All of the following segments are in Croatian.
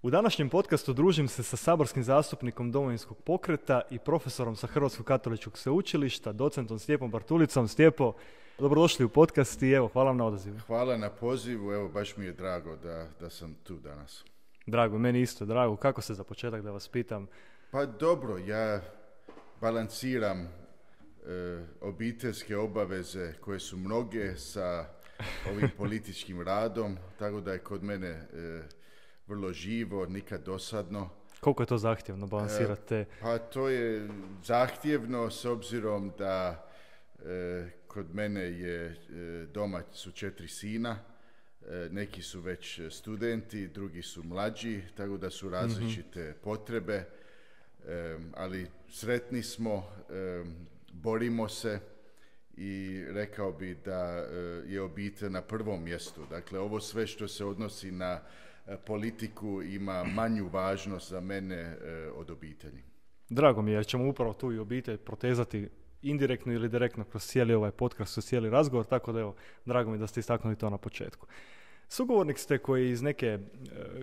U današnjem podcastu družim se sa saborskim zastupnikom Domovinskog pokreta i profesorom sa Hrvatskog katoličkog sveučilišta, docentom Stjepom Bartulicom. Stjepo, dobrodošli u podcast i evo, hvala vam na odazivu. Hvala na pozivu, evo baš mi je drago da sam tu danas. Drago, meni isto drago. Kako se za početak da vas pitam? Pa dobro, ja balansiram obiteljske obaveze koje su mnoge sa ovim političkim radom, tako da je kod mene vrlo živo, nikad dosadno. Koliko je to zahtjevno balansirate? Pa to je zahtjevno s obzirom da kod mene je doma su 4 sina, neki su već studenti, drugi su mlađi, tako da su različite potrebe, ali sretni smo, borimo se i rekao bi da je obitelj na prvom mjestu. Dakle, ovo sve što se odnosi na politiku ima manju važnost za mene od obitelji. Drago mi je jer ćemo upravo tu i obitelj protezati indirektno ili direktno kroz cijeli ovaj podcast, kroz cijeli razgovor, tako da evo, drago mi je da ste istaknuli to na početku. Sugovornik ste koji iz neke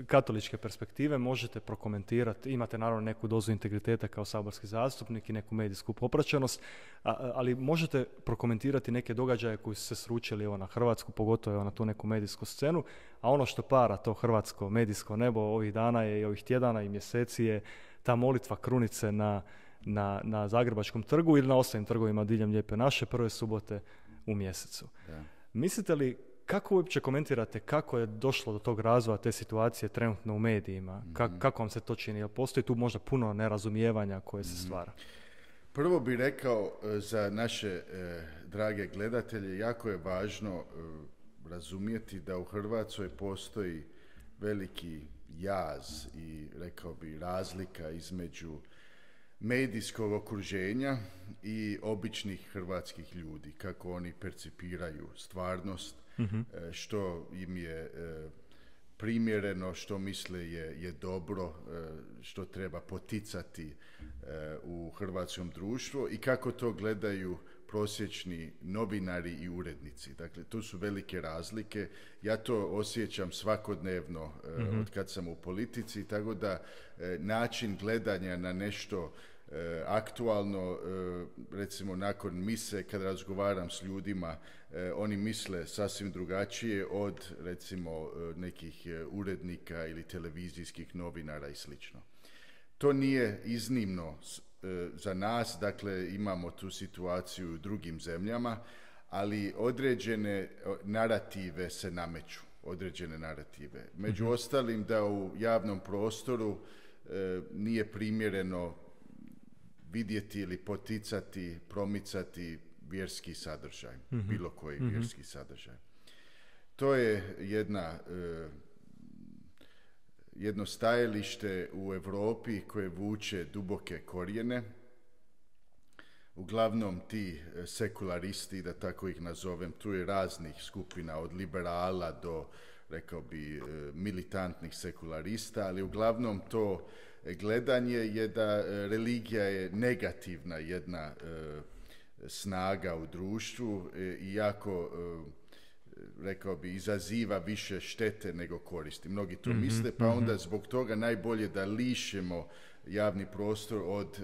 katoličke perspektive možete prokomentirati, imate naravno neku dozu integriteta kao saborski zastupnik i neku medijsku popraćenost, ali možete prokomentirati neke događaje koji su se sručili evo, na Hrvatsku, pogotovo evo, na tu neku medijsku scenu, a ono što para to hrvatsko medijsko nebo ovih dana je i ovih tjedana i mjeseci je ta molitva krunice na Zagrebačkom trgu ili na ostalim trgovima diljem Lijepe naše prve subote u mjesecu. Da. Mislite li, kako uopće komentirate kako je došlo do tog razvoja te situacije trenutno u medijima? Kako vam se to čini? Jel postoji tu možda puno nerazumijevanja koje se stvara? Prvo bih rekao za naše drage gledatelje, jako je važno razumjeti da u Hrvatskoj postoji veliki jaz i rekao bi razlika između medijskog okruženja i običnih hrvatskih ljudi, kako oni percipiraju stvarnost, što im je primjereno, što misle je dobro, što treba poticati u hrvatskom društvu i kako to gledaju prosječni novinari i urednici. Dakle, tu su velike razlike. Ja to osjećam svakodnevno od kad sam u politici, tako da način gledanja na nešto aktualno, recimo nakon mise kad razgovaram s ljudima, oni misle sasvim drugačije od recimo nekih urednika ili televizijskih novinara i slično. To nije iznimno za nas, dakle imamo tu situaciju u drugim zemljama, ali određene narative se nameću, određene narative. Među ostalim da u javnom prostoru nije primjereno vidjeti ili poticati, promicati vjerski sadržaj, bilo koji vjerski sadržaj. To je jedno stajalište u Europi koje vuče duboke korijene. Uglavnom ti sekularisti, da tako ih nazovem, tu je raznih skupina od liberala do, rekao bi, militantnih sekularista, ali uglavnom to gledanje je da religija je negativna jedna snaga u društvu i jako, rekao bi, izaziva više štete nego koristi. Mnogi to misle, pa onda zbog toga najbolje da lišimo javni prostor od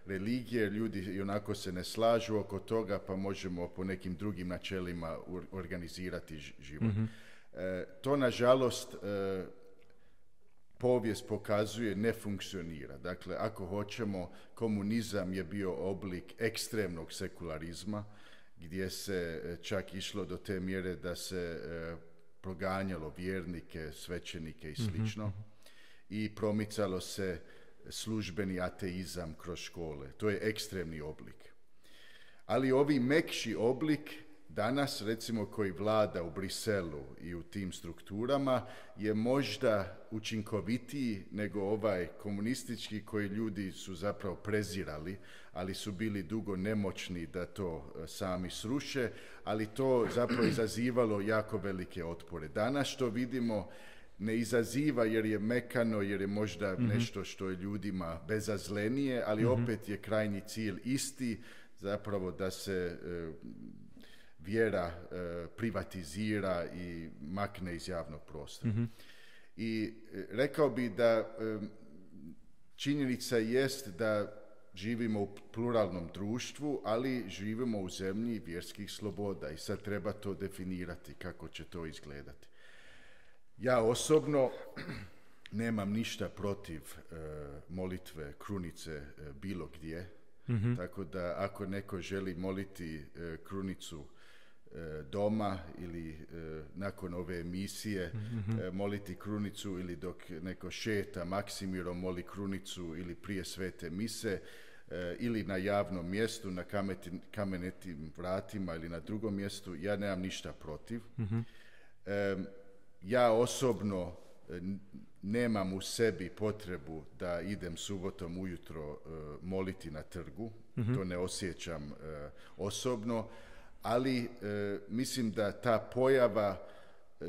religije. Ljudi i onako se ne slažu oko toga, pa možemo po nekim drugim načelima organizirati život. To, nažalost, povijest pokazuje ne funkcionira. Dakle, ako hoćemo, komunizam je bio oblik ekstremnog sekularizma, gdje se čak išlo do te mjere da se proganjalo vjernike, svećenike i slično. I promicalo se službeni ateizam kroz škole. To je ekstremni oblik. Ali ovi mekši oblik danas, recimo, koji vlada u Briselu i u tim strukturama, je možda učinkovitiji nego ovaj komunistički koji ljudi su zapravo prezirali, ali su bili dugo nemoćni da to sami sruše, ali to zapravo izazivalo jako velike otpore. Danas što vidimo ne izaziva jer je mekano, jer je možda nešto što je ljudima bezazlenije, ali opet je krajnji cilj isti, zapravo da se vjera privatizira i makne iz javnog prostora. I rekao bi da činjenica jest da živimo u pluralnom društvu, ali živimo u zemlji vjerskih sloboda i sad treba to definirati kako će to izgledati. Ja osobno nemam ništa protiv molitve krunice bilo gdje, tako da ako neko želi moliti krunicu doma ili nakon ove emisije moliti krunicu ili dok neko šeta Maksimirom moli krunicu ili prije svete mise ili na javnom mjestu, na kamenetim vratima ili na drugom mjestu, ja nemam ništa protiv. Ja osobno nemam u sebi potrebu da idem subotom ujutro moliti na trgu, to ne osjećam osobno, ali mislim da ta pojava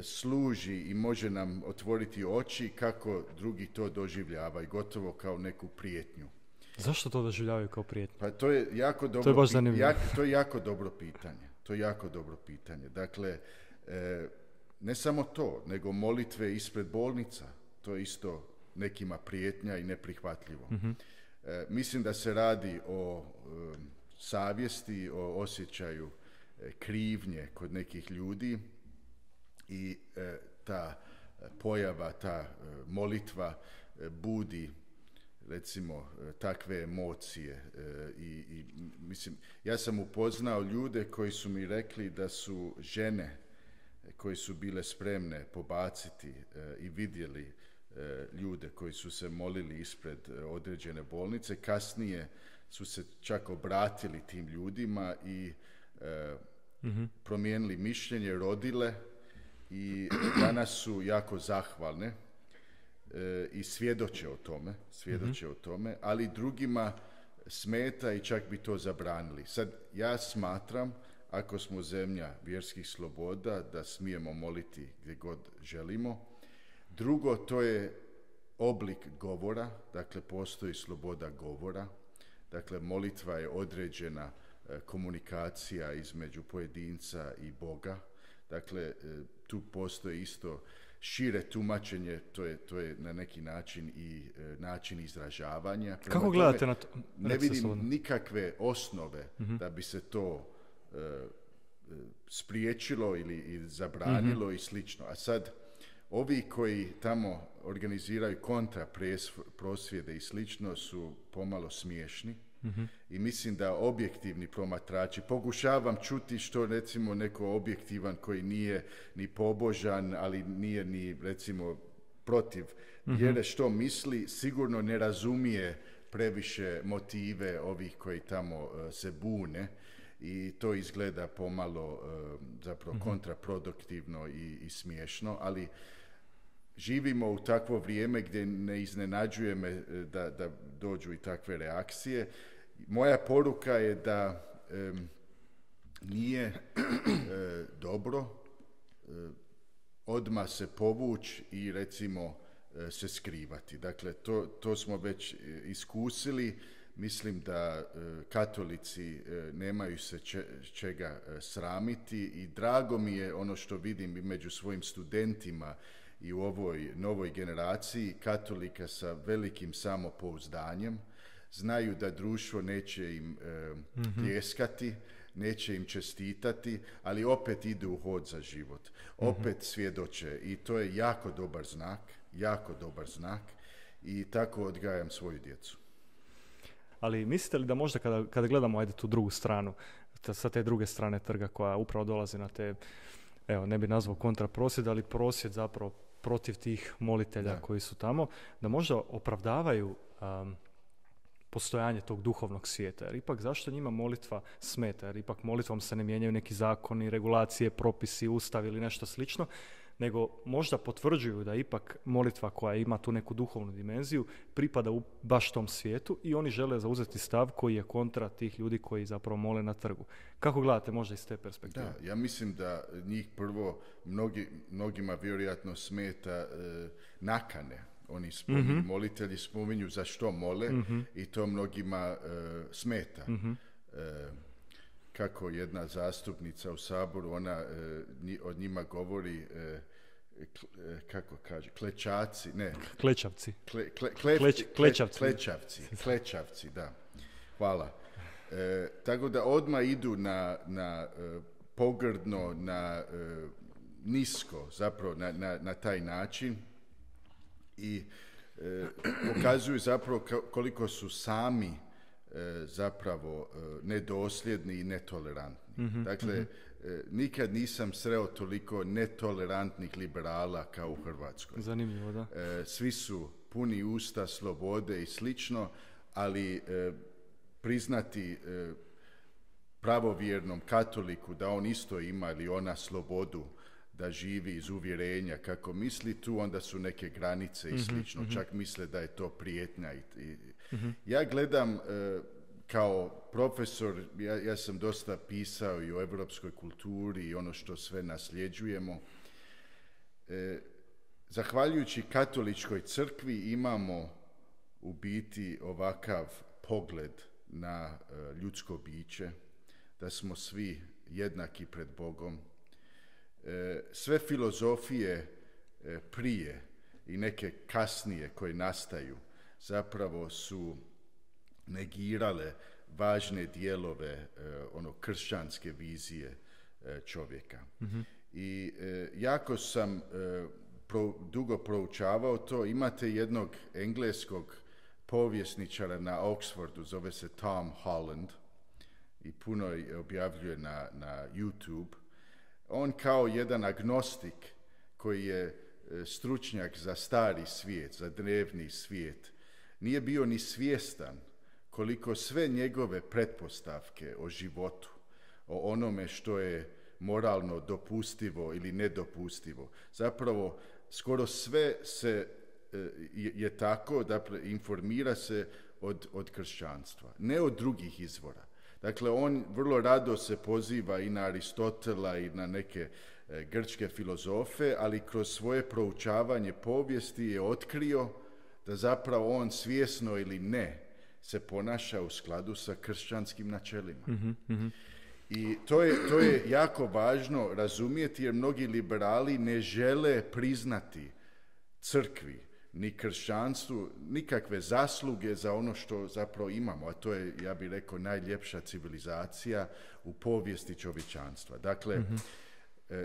služi i može nam otvoriti oči kako drugi to doživljavaju, gotovo kao neku prijetnju. Zašto to doživljavaju kao prijetnju? Pa to je jako dobro, to je baš zanimljivo. To je jako dobro pitanje. To je jako dobro pitanje. Dakle, ne samo to, nego molitve ispred bolnica. To je isto nekima prijetnja i neprihvatljivo. Mislim da se radi o savjesti, o osjećaju krivnje kod nekih ljudi i ta pojava, ta molitva budi recimo takve emocije i mislim, ja sam upoznao ljude koji su mi rekli da su žene koji su bile spremne pobaciti i vidjeli ljude koji su se molili ispred određene bolnice, kasnije su se čak obratili tim ljudima i promijenili mišljenje, rodile i danas su jako zahvalne i svjedoče o tome, ali drugima smeta i čak bi to zabranili. Sad, ja smatram, ako smo zemlja vjerskih sloboda, da smijemo moliti gdje god želimo. Drugo, to je oblik govora, dakle postoji sloboda govora, dakle molitva je određena komunikacija između pojedinca i Boga, dakle tu postoji isto šire tumačenje, to je na neki način i način izražavanja. Kako gledate na to? Ne vidim nikakve osnove da bi se to spriječilo ili zabranilo i slično. A sad, ovi koji tamo organiziraju kontra prosvjede i slično su pomalo smiješni. I mislim da objektivni promatrači, pokušavam čuti što recimo neko objektivan koji nije ni pobožan, ali nije ni recimo protiv vjere što misli, sigurno ne razumije previše motive ovih koji tamo se bune i to izgleda pomalo zapravo kontraproduktivno i smiješno, ali živimo u takvo vrijeme gdje ne iznenađuje me da dođu i takve reakcije. Moja poruka je da nije dobro odmah se povući i recimo se skrivati. Dakle, to smo već iskusili. Mislim da katolici nemaju se čega sramiti i drago mi je ono što vidim i među svojim studentima i u ovoj novoj generaciji katolika sa velikim samopouzdanjem. Znaju da društvo neće im pljeskati, neće im čestitati, ali opet idu u hod za život. Opet svjedoče i to je jako dobar znak i tako odgajam svoju djecu. Ali mislite li da možda kada gledamo tu drugu stranu, sa te druge strane trga koja upravo dolazi na te, evo ne bi nazvao kontraprosvjed, ali prosvjed zapravo protiv tih molitelja koji su tamo, da možda opravdavaju postojanje tog duhovnog svijeta. Jer ipak zašto njima molitva smeta? Jer ipak molitvom se ne mijenjaju neki zakoni, regulacije, propisi, ustav ili nešto slično, nego možda potvrđuju da ipak molitva koja ima tu neku duhovnu dimenziju pripada u baš tom svijetu i oni žele zauzeti stav koji je kontra tih ljudi koji zapravo mole na trgu. Kako gledate možda iz te perspektive? Da, ja mislim da njih prvo mnogima vjerojatno smeta nakane. Oni spominju, molitelji spominju za što mole i to mnogima smeta. Kako jedna zastupnica u Saboru, ona od njima govori kako kaže, klečaci, ne. Klečavci. Klečavci, da. Hvala. Tako da odmah idu na pogrdno, na nisko, zapravo na taj način i pokazuju zapravo koliko su sami zapravo nedosljedni i netolerantni. Dakle, nikad nisam sreo toliko netolerantnih liberala kao u Hrvatskoj. Zanimljivo, da. Svi su puni usta slobode i slično, ali priznati pravovjernom katoliku da on isto ima ili ona slobodu da živi iz uvjerenja kako misli, tu onda su neke granice i slično. Čak misle da je to prijetnja. Ja gledam kao profesor, ja sam dosta pisao i o europskoj kulturi i ono što sve nasljeđujemo. Zahvaljujući katoličkoj crkvi imamo u biti ovakav pogled na ljudsko biće, da smo svi jednaki pred Bogom. Sve filozofije prije i neke kasnije koje nastaju zapravo su negirale važne dijelove kršćanske vizije čovjeka. I jako sam dugo proučavao to. Imate jednog engleskog povjesničara na Oxfordu, zove se Tom Holland i puno objavljuje na YouTube. On kao jedan agnostik koji je stručnjak za stari svijet, za drevni svijet, nije bio ni svjestan koliko sve njegove pretpostavke o životu, o onome što je moralno dopustivo ili nedopustivo. Zapravo, skoro sve je tako, dakle, informira se od kršćanstva, ne od drugih izvora. Dakle, on vrlo rado se poziva i na Aristotela i na neke grčke filozofe, ali kroz svoje proučavanje povijesti je otkrio da zapravo on svjesno ili ne se ponaša u skladu sa kršćanskim načelima. I to je jako važno razumjeti, jer mnogi liberali ne žele priznati crkvi ni kršćanstvu nikakve zasluge za ono što zapravo imamo, a to je, ja bih rekao, najljepša civilizacija u povijesti čovječanstva. Dakle,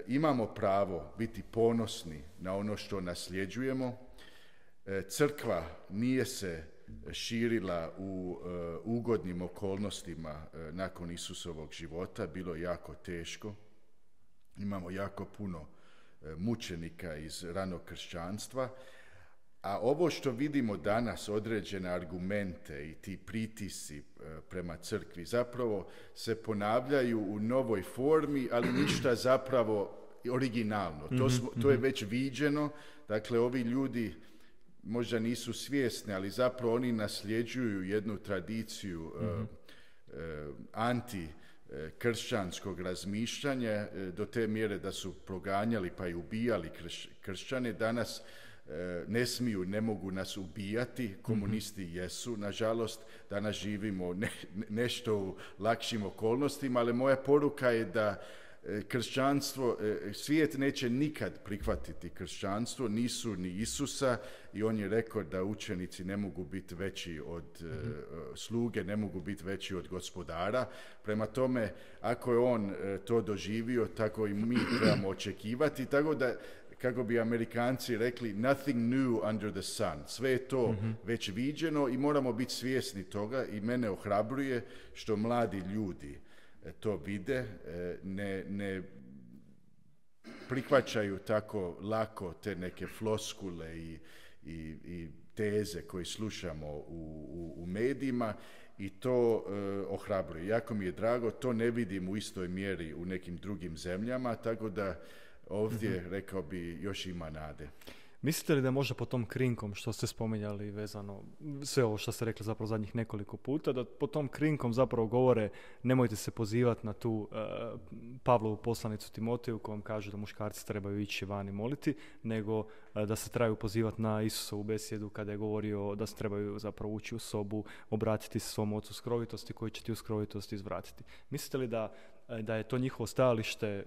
imamo pravo biti ponosni na ono što nasljeđujemo. Crkva nije se širila u ugodnim okolnostima nakon Isusovog života, bilo jako teško. Imamo jako puno mučenika iz ranog kršćanstva, a ovo što vidimo danas, određene argumente i ti pritisci prema crkvi, zapravo se ponavljaju u novoj formi, ali ništa zapravo originalno. To je već viđeno, dakle ovi ljudi možda nisu svjesni, ali zapravo oni nasljeđuju jednu tradiciju anti-kršćanskog razmišljanja do te mjere da su proganjali pa i ubijali kršćane. Danas ne mogu nas ubijati, komunisti jesu, nažalost, danas živimo nešto u lakšim okolnostima, ali moja poruka je da kršćanstvo, svijet neće nikad prihvatiti kršćanstvo, nisu ni Isusa, i on je rekao da učenici ne mogu biti veći od sluge, ne mogu biti veći od gospodara. Prema tome, ako je on to doživio, tako i mi trebamo očekivati, tako da, kako bi Amerikanci rekli, nothing new under the sun. Sve je to već viđeno i moramo biti svjesni toga, i mene ohrabruje što mladi ljudi to vide, ne prihvaćaju tako lako te neke floskule i teze koje slušamo u medijima, i to ohrabruje. Jako mi je drago, to ne vidim u istoj mjeri u nekim drugim zemljama, tako da ovdje, rekao bi, još ima nade. Mislite li da možda po tom krinkom što ste spominjali vezano, sve ovo što ste rekli zapravo zadnjih nekoliko puta, da po tom krinkom zapravo govore nemojte se pozivati na tu Pavlovu poslanicu Timoteju kojom kaže da muškarci trebaju ići van i moliti, nego da se trebaju pozivati na Isusovu besjedu kada je govorio da se trebaju zapravo ući u sobu, obratiti se svom ocu skrovitosti koji će ti u skrovitosti izvratiti. Mislite li da je to njihovo stajalište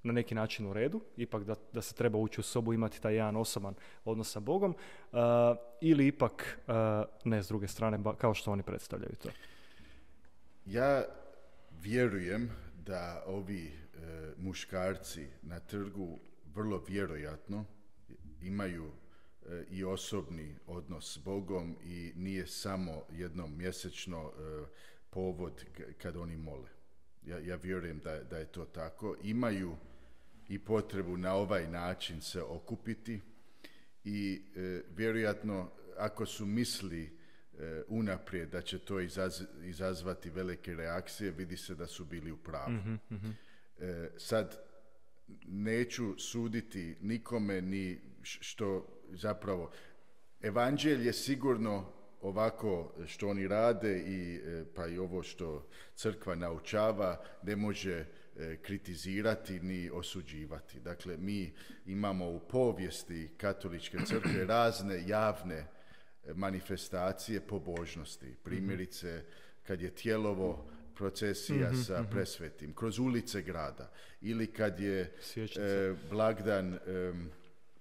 na neki način u redu, ipak da se treba ući u sobu, imati taj jedan osoban odnos sa Bogom, ili ipak ne s druge strane, kao što oni predstavljaju to? Ja vjerujem da ovi muškarci na trgu vrlo vjerojatno imaju i osobni odnos s Bogom i nije samo jednom mjesečno povod kad oni mole. Ja vjerujem da je to tako. Imaju i potrebu na ovaj način se okupiti i vjerojatno ako su misli unaprijed da će to izazvati velike reakcije, vidi se da su bili u pravu. Sad neću suditi nikome ni što zapravo evanđelje je sigurno ovako što oni rade i pa i ovo što crkva naučava ne može kritizirati ni osuđivati. Dakle, mi imamo u povijesti katoličke crkve razne javne manifestacije pobožnosti. Primjerice, kad je Tjelovo procesija sa presvetim, kroz ulice grada, ili kad je blagdan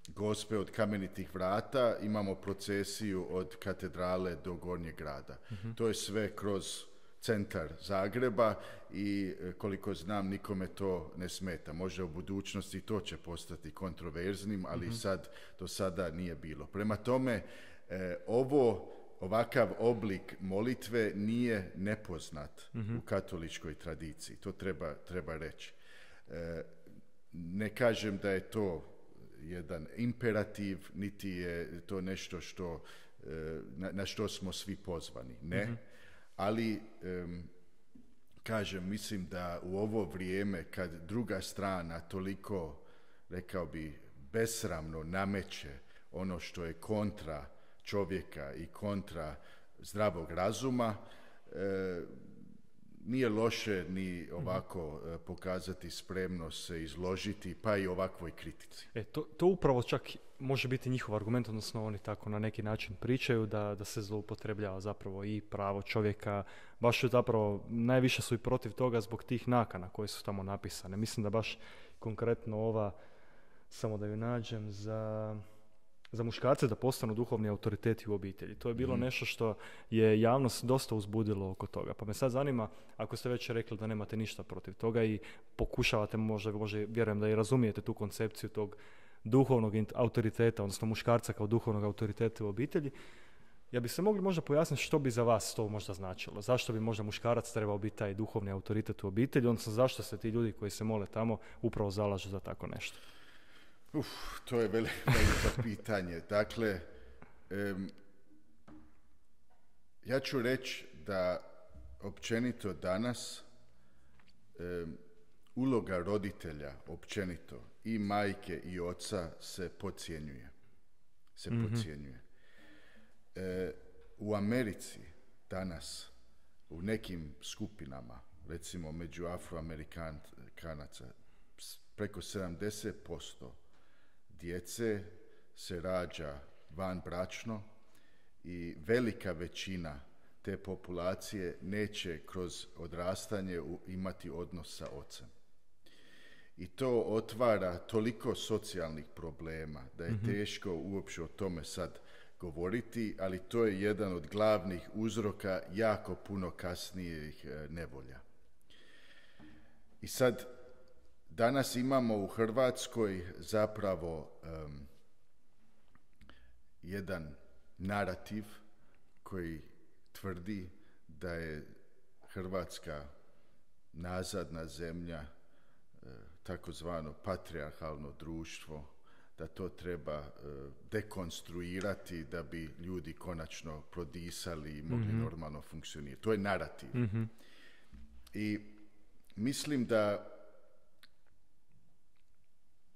Gospe od Kamenitih vrata, imamo procesiju od katedrale do Gornjeg grada. To je sve kroz centar Zagreba i koliko znam nikome to ne smeta. Možda u budućnosti to će postati kontroverznim, ali do sada nije bilo. Prema tome, ovakav oblik molitve nije nepoznat u katoličkoj tradiciji. To treba reći. Ne kažem da je to jedan imperativ, niti je to nešto na što smo svi pozvani. Ne. Ali, kažem, mislim da u ovo vrijeme kad druga strana toliko, rekao bi, besramno nameće ono što je kontra čovjeka i kontra zdravog razuma, nije loše ni ovako pokazati spremnost se izložiti, pa i ovakvoj kritici. To upravo čak može biti njihov argument, odnosno oni tako na neki način pričaju da se zloupotrebljava zapravo i pravo čovjeka. Baš zapravo najviše su i protiv toga zbog tih nakana koje su tamo napisane. Mislim da baš konkretno ova, samo da ju nađem, za muškarce da postanu duhovni autoriteti u obitelji. To je bilo nešto što je javnost dosta uzbudilo oko toga. Pa me sad zanima, ako ste već rekli da nemate ništa protiv toga i pokušavate, možda vjerujem da i razumijete tu koncepciju tog duhovnog autoriteta, odnosno muškarca kao duhovnog autoriteta u obitelji, ja bi se mogli možda pojasniti što bi za vas to možda značilo. Zašto bi možda muškarac trebao biti taj duhovni autoritet u obitelji, odnosno zašto se ti ljudi koji se mole tamo upravo zalažu za tako nešto? To je veliko pitanje. Dakle, ja ću reći da općenito danas uloga roditelja općenito i majke i oca se podcjenjuje. U Americi danas u nekim skupinama, recimo među Afroamerikanaca, preko 70% djece se rađa vanbračno i velika većina te populacije neće kroz odrastanje imati odnos sa ocem. I to otvara toliko socijalnih problema da je teško uopće o tome sad govoriti, ali to je jedan od glavnih uzroka jako puno kasnijih nevolja. I sad danas imamo u Hrvatskoj zapravo jedan narativ koji tvrdi da je Hrvatska nazadna zemlja, takozvano patrijarhalno društvo, da to treba dekonstruirati da bi ljudi konačno prodisali i mogli normalno funkcionirati. To je narativ. I mislim da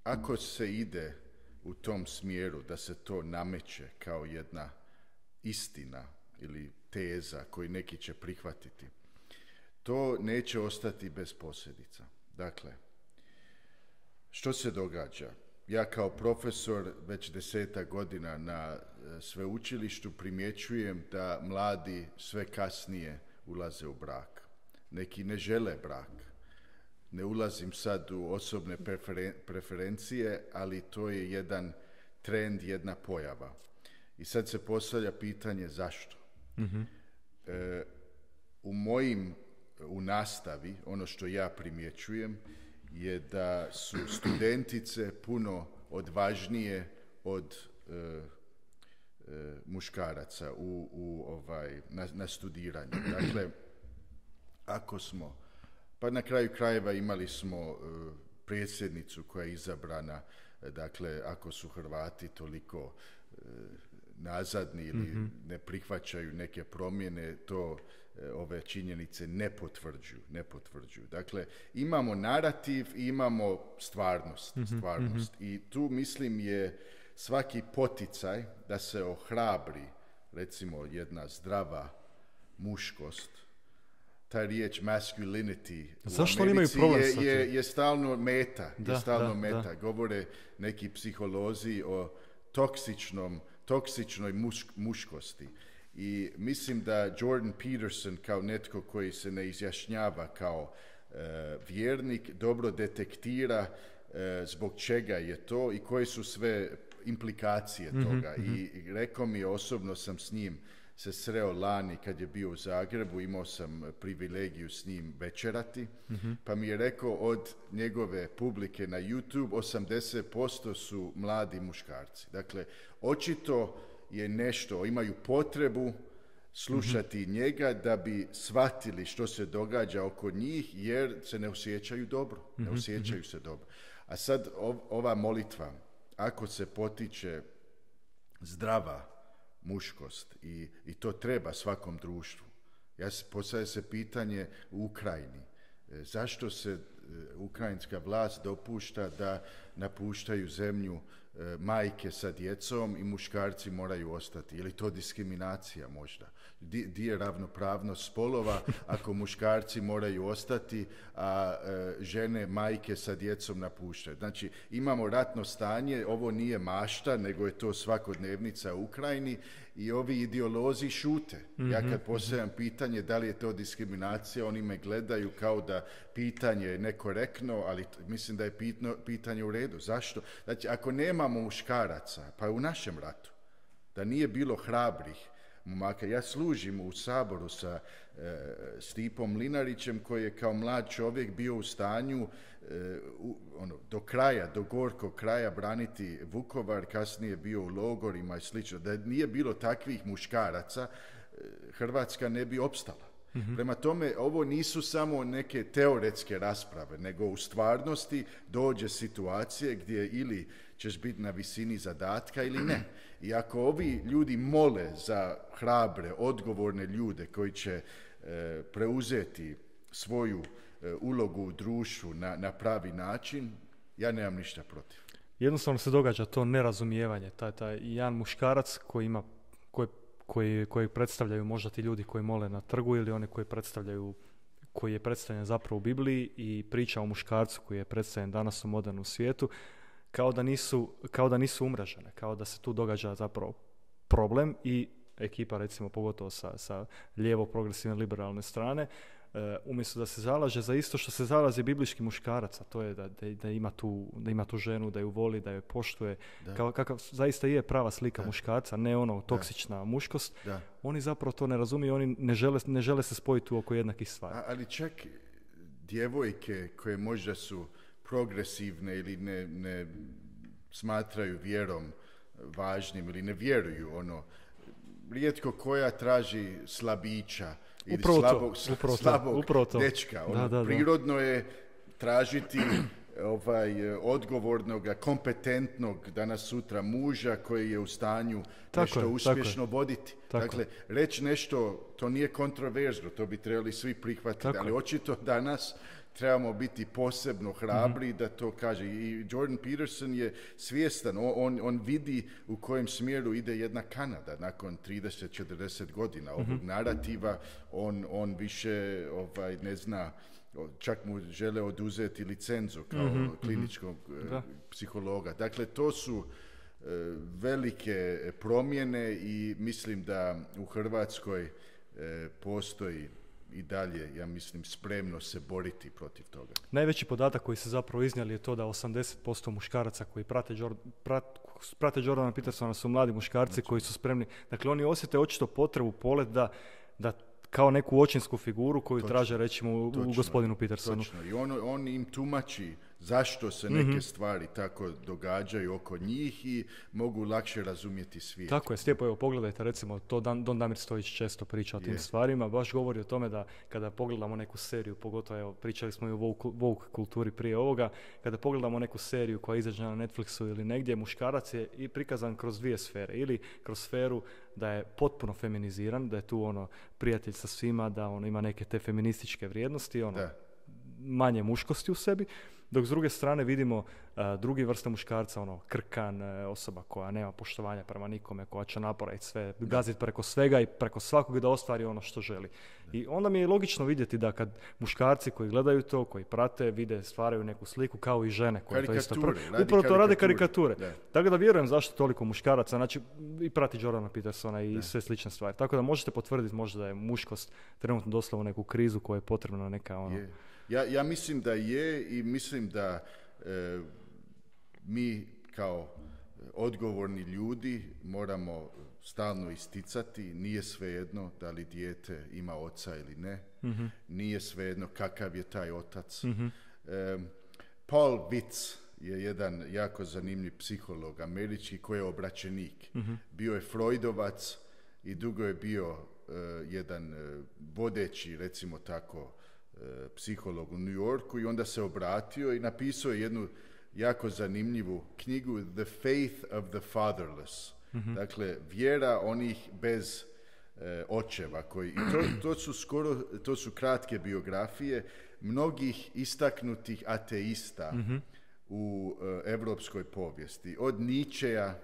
ako se ide u tom smjeru da se to nameće kao jedna istina ili teza koju neki će prihvatiti, to neće ostati bez posljedica. Dakle, što se događa? Ja kao profesor već 10 godina na sveučilištu primjećujem da mladi sve kasnije ulaze u brak. Neki ne žele brak. ne ulazim sad u osobne preferencije, ali to je jedan trend, jedna pojava. I sad se postavlja pitanje zašto. U nastavi, ono što ja primjećujem, je da su studentice puno odvažnije od muškaraca na studiranju. Dakle, ako smo, pa na kraju krajeva imali smo predsjednicu koja je izabrana, dakle, ako su Hrvati toliko nazadni ili ne prihvaćaju neke promjene, to ove činjenice ne potvrđuju. Dakle, imamo narativ i imamo stvarnost. I tu, mislim, je svaki poticaj da se ohrabri, recimo, jedna zdrava muškost. Ta riječ masculinity zašto u imaju Americi je stalno meta. Govore neki psiholozi o toksičnoj muškosti. I mislim da Jordan Peterson, kao netko koji se ne izjašnjava kao vjernik, dobro detektira zbog čega je to i koje su sve implikacije toga. I rekao mi je, osobno sam s njim se sreo lani kad je bio u Zagrebu, imao sam privilegiju s njim večerati, pa mi je rekao od njegove publike na YouTube 80% su mladi muškarci. Dakle, očito je nešto, imaju potrebu slušati njega da bi shvatili što se događa oko njih, jer se ne osjećaju dobro. A sad ova molitva, ako se potiče zdrava muškost i to treba svakom društvu. Postavlja se pitanje u Ukrajini. Zašto se ukrajinska vlast dopušta da napuštaju zemlju majke sa djecom i muškarci moraju ostati? Je li to diskriminacija možda? Di je ravnopravnost spolova ako muškarci moraju ostati, a žene, majke sa djecom napuštaju? Znači, imamo ratno stanje, ovo nije mašta, nego je to svakodnevnica u Ukrajini i ovi ideolozi šute. Ja kad postavljam pitanje da li je to diskriminacija, oni me gledaju kao da pitanje je nekorektno, ali mislim da je pitanje u redu. Zašto? Znači, ako nemamo muškaraca, pa u našem ratu, da nije bilo hrabrih momaka. Ja služim u Saboru sa Stipom Mlinarićem, koji je kao mlad čovjek bio u stanju do kraja, do gorkog kraja braniti Vukovar, kasnije bio u logorima i slično. Da nije bilo takvih muškaraca, Hrvatska ne bi opstala. Prema tome, ovo nisu samo neke teoretske rasprave, nego u stvarnosti dođe situacije gdje ili ćeš biti na visini zadatka ili ne. I ako ovi ljudi mole za hrabre, odgovorne ljude koji će preuzeti svoju ulogu u društvu na pravi način, ja nemam ništa protiv. Jednostavno se događa to nerazumijevanje. Taj jedan muškarac koji predstavljaju možda ti ljudi koji mole na trgu ili oni koji je predstavljen zapravo u Bibliji i priča o muškarcu koji je predstavljen danas u modernom svijetu, kao da nisu umrežene, kao da se tu događa zapravo problem i ekipa, recimo pogotovo sa lijevo progresivne liberalne strane, umjesto da se zalaže za isto što se zalaže biblički muškarac, a to je da ima tu ženu, da ju voli, da ju poštuje, kakav zaista je prava slika muškarca, ne ono toksična muškost. Oni zapravo to ne razumiju, oni ne žele se spojiti oko jednakih stvari. Ali čak djevojke koje možda su progresivne ili ne smatraju vjerom važnim ili ne vjeruju, rijetko koja traži slabića ili slabog dečka. Prirodno je tražiti odgovornog, kompetentnog danas sutra muža koji je u stanju nešto uspješno voditi. Dakle, reći nešto, to nije kontroverzno, to bi trebali svi prihvatiti, ali očito danas trebamo biti posebno hrabri da to kaže. I Jordan Peterson je svjestan, on vidi u kojem smjeru ide jedna Kanada nakon 30-40 godina ovog narativa. On više ne zna, čak mu žele oduzeti licencu kao kliničkog psihologa. Dakle, to su velike promjene i mislim da u Hrvatskoj postoji i dalje, ja mislim, spremno se boriti protiv toga. Najveći podatak koji se zapravo iznijeli je to da 80% muškaraca koji prate Jordana Petersona su mladi muškarci koji su spremni. Dakle, oni osjete očito potrebu, polet da kao neku očinsku figuru koju traže, recimo, u gospodinu Petersonu. Točno. I on im tumači zašto se neke stvari tako događaju oko njih i mogu lakše razumjeti svijet. Tako je, Stjepo, evo pogledajte, recimo, to Don Damir Stojić često priča o tim stvarima, baš govori o tome da kada pogledamo neku seriju, pogotovo, evo, pričali smo i o woke kulturi prije ovoga, kada pogledamo neku seriju koja izađe na Netflixu ili negdje, muškarac je i prikazan kroz dvije sfere, ili kroz sferu da je potpuno feminiziran, da je tu prijatelj sa svima, da ima neke te feminističke vrijednosti, manje muškosti u sebi, dok s druge strane vidimo drugi vrste muškarca, krkan, osoba koja nema poštovanja prema nikome, koja će napraviti sve, gaziti preko svega i preko svakog da ostvari ono što želi. I onda mi je logično vidjeti da kad muškarci koji gledaju to, koji prate, vide, stvaraju neku sliku, kao i žene koje to isto upravo to rade karikature. Tako da vjerujem zašto toliko muškaraca, znači i prati Jordana Petersona i sve slične stvari. Tako da možete potvrditi možda da je muškost trenutno došla u neku krizu koja je potrebna neka Ja mislim da je i mislim da mi kao odgovorni ljudi moramo stalno isticati, nije svejedno da li dijete ima oca ili ne, nije svejedno kakav je taj otac. Paul Vitz je jedan jako zanimljiv psiholog američki koji je obraćenik. Bio je Freudovac i dugo je bio jedan vodeći, recimo tako, psiholog u New Yorku i onda se obratio i napisao je jednu jako zanimljivu knjigu The Faith of the Fatherless. Dakle, vjera onih bez očeva. To su kratke biografije mnogih istaknutih ateista u evropskoj povijesti. Od Nietzschea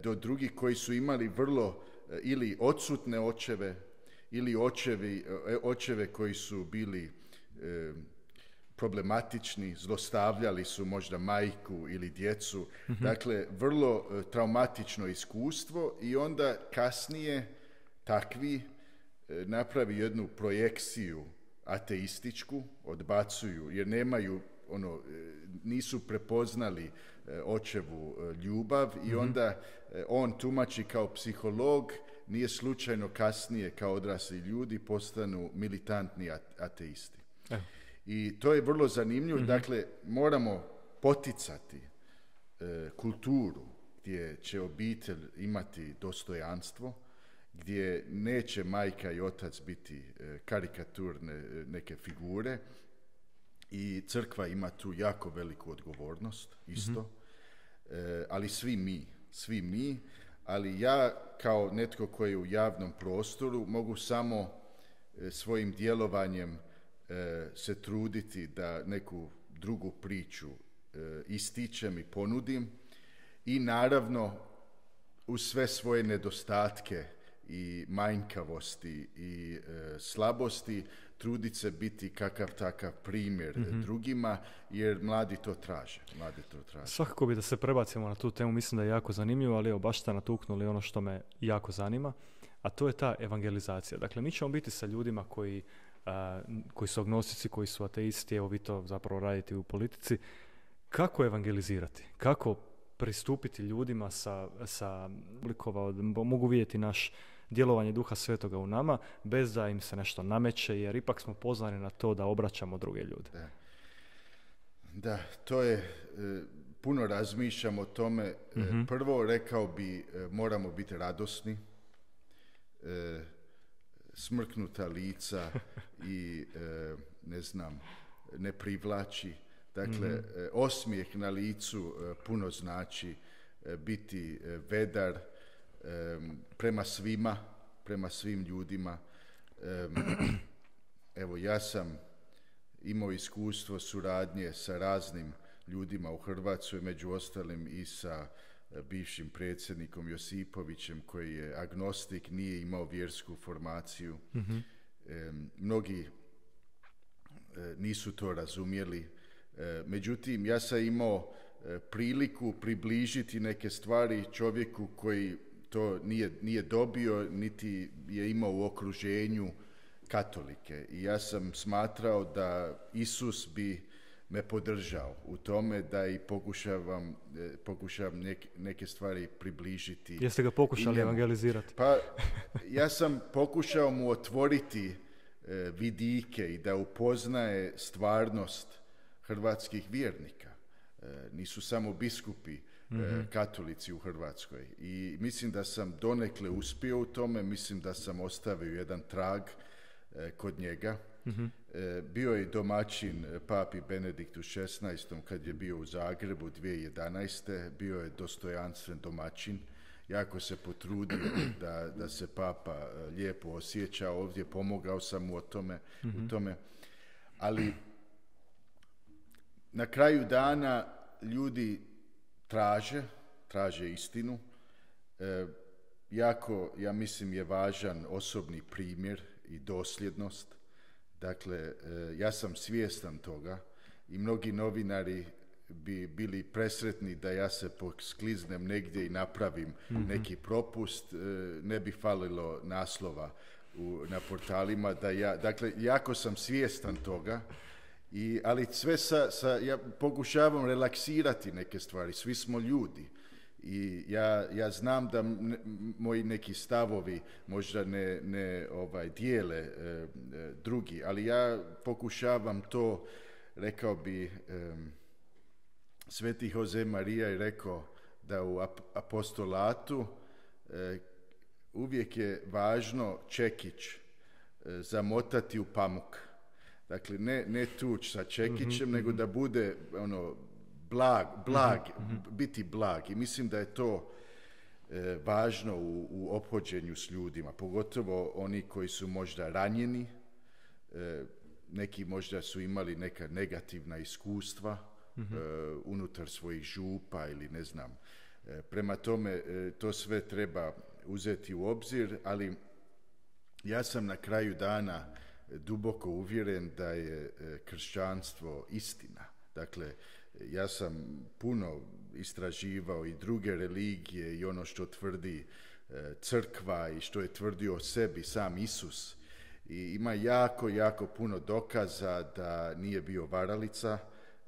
do drugih koji su imali vrlo ili odsutne očeve ili očeve koji su bili problematični, zlostavljali su možda majku ili djecu. Dakle, vrlo traumatično iskustvo i onda kasnije takvi napravi jednu projekciju ateističku, odbacuju jer nemaju nisu prepoznali očevu ljubav i onda on tumači kao psiholog, nije slučajno kasnije kao odrasli ljudi postanu militantni ateisti. I to je vrlo zanimljivo. Dakle, moramo poticati kulturu gdje će obitelj imati dostojanstvo, gdje neće majka i otac biti karikaturne neke figure i crkva ima tu jako veliku odgovornost isto, ali svi mi, ali ja kao netko koji je u javnom prostoru mogu samo svojim djelovanjem se truditi da neku drugu priču ističem i ponudim i naravno uz sve svoje nedostatke i manjkavosti i slabosti truditi se biti kakav takav primjer drugima, jer mladi to traže. Svakako bi da se prebacimo na tu temu, mislim da je jako zanimljivo, ali evo baš ste natuknuli ono što me jako zanima, a to je ta evangelizacija. Dakle, mi ćemo biti sa ljudima koji su agnostici, koji su ateisti, evo vi to zapravo radite u politici. Kako evangelizirati? Kako pristupiti ljudima mogu vidjeti naš djelovanje Duha Svetoga u nama, bez da im se nešto nameće, jer ipak smo pozvani na to da obraćamo druge ljude. Da, to je, puno razmišljam o tome. Prvo rekao bi, moramo biti radosni, smrknuta lica i ne privlači. Dakle, osmijeh na licu puno znači, biti vedar prema svim ljudima. Evo, ja sam imao iskustvo suradnje sa raznim ljudima u Hrvatskoj, među ostalim i sa bivšim predsjednikom Josipovićem, koji je agnostik, nije imao vjersku formaciju. Mnogi nisu to razumjeli. Međutim, ja sam imao priliku približiti neke stvari čovjeku koji to nije dobio, niti je imao u okruženju katolike. I ja sam smatrao da Isus bi me podržao u tome da i pokušavam neke stvari približiti. Jeste ga pokušali evangelizirati? Pa ja sam pokušao mu otvoriti vidike i da upoznaje stvarnost hrvatskih vjernika. Nisu samo biskupi katolici u Hrvatskoj. I mislim da sam donekle uspio u tome, mislim da sam ostavio jedan trag kod njega. Bio je domaćin papi Benediktu XVI. Kad je bio u Zagrebu 2011. Bio je dostojanstven domaćin. Jako se potrudio da se papa lijepo osjeća ovdje. Pomogao sam mu u tome. Ali na kraju dana ljudi traže istinu. Jako, ja mislim, je važan osobni primjer i dosljednost. Dakle, ja sam svjestan toga i mnogi novinari bi bili presretni da ja se poskliznem negdje i napravim neki propust, ne bi falilo naslova na portalima dakle, jako sam svjestan toga, ali sve ja pokušavam relaksirati neke stvari, svi smo ljudi. I ja znam da moji neki stavovi možda ne dijele drugi, ali ja pokušavam to, rekao bi, Sveti Jose Marija je rekao da u apostolatu uvijek je važno čekić zamotati u pamuk. Dakle, ne tuć sa čekićem, nego da bude blag, biti blag. I mislim da je to važno u ophođenju s ljudima, pogotovo oni koji su možda ranjeni, neki možda su imali neka negativna iskustva unutar svojih župa ili ne znam. Prema tome, to sve treba uzeti u obzir, ali ja sam na kraju dana duboko uvjeren da je kršćanstvo istina. Dakle, ja sam puno istraživao i druge religije i ono što tvrdi crkva i što je tvrdio o sebi sam Isus. I ima jako puno dokaza da nije bio varalica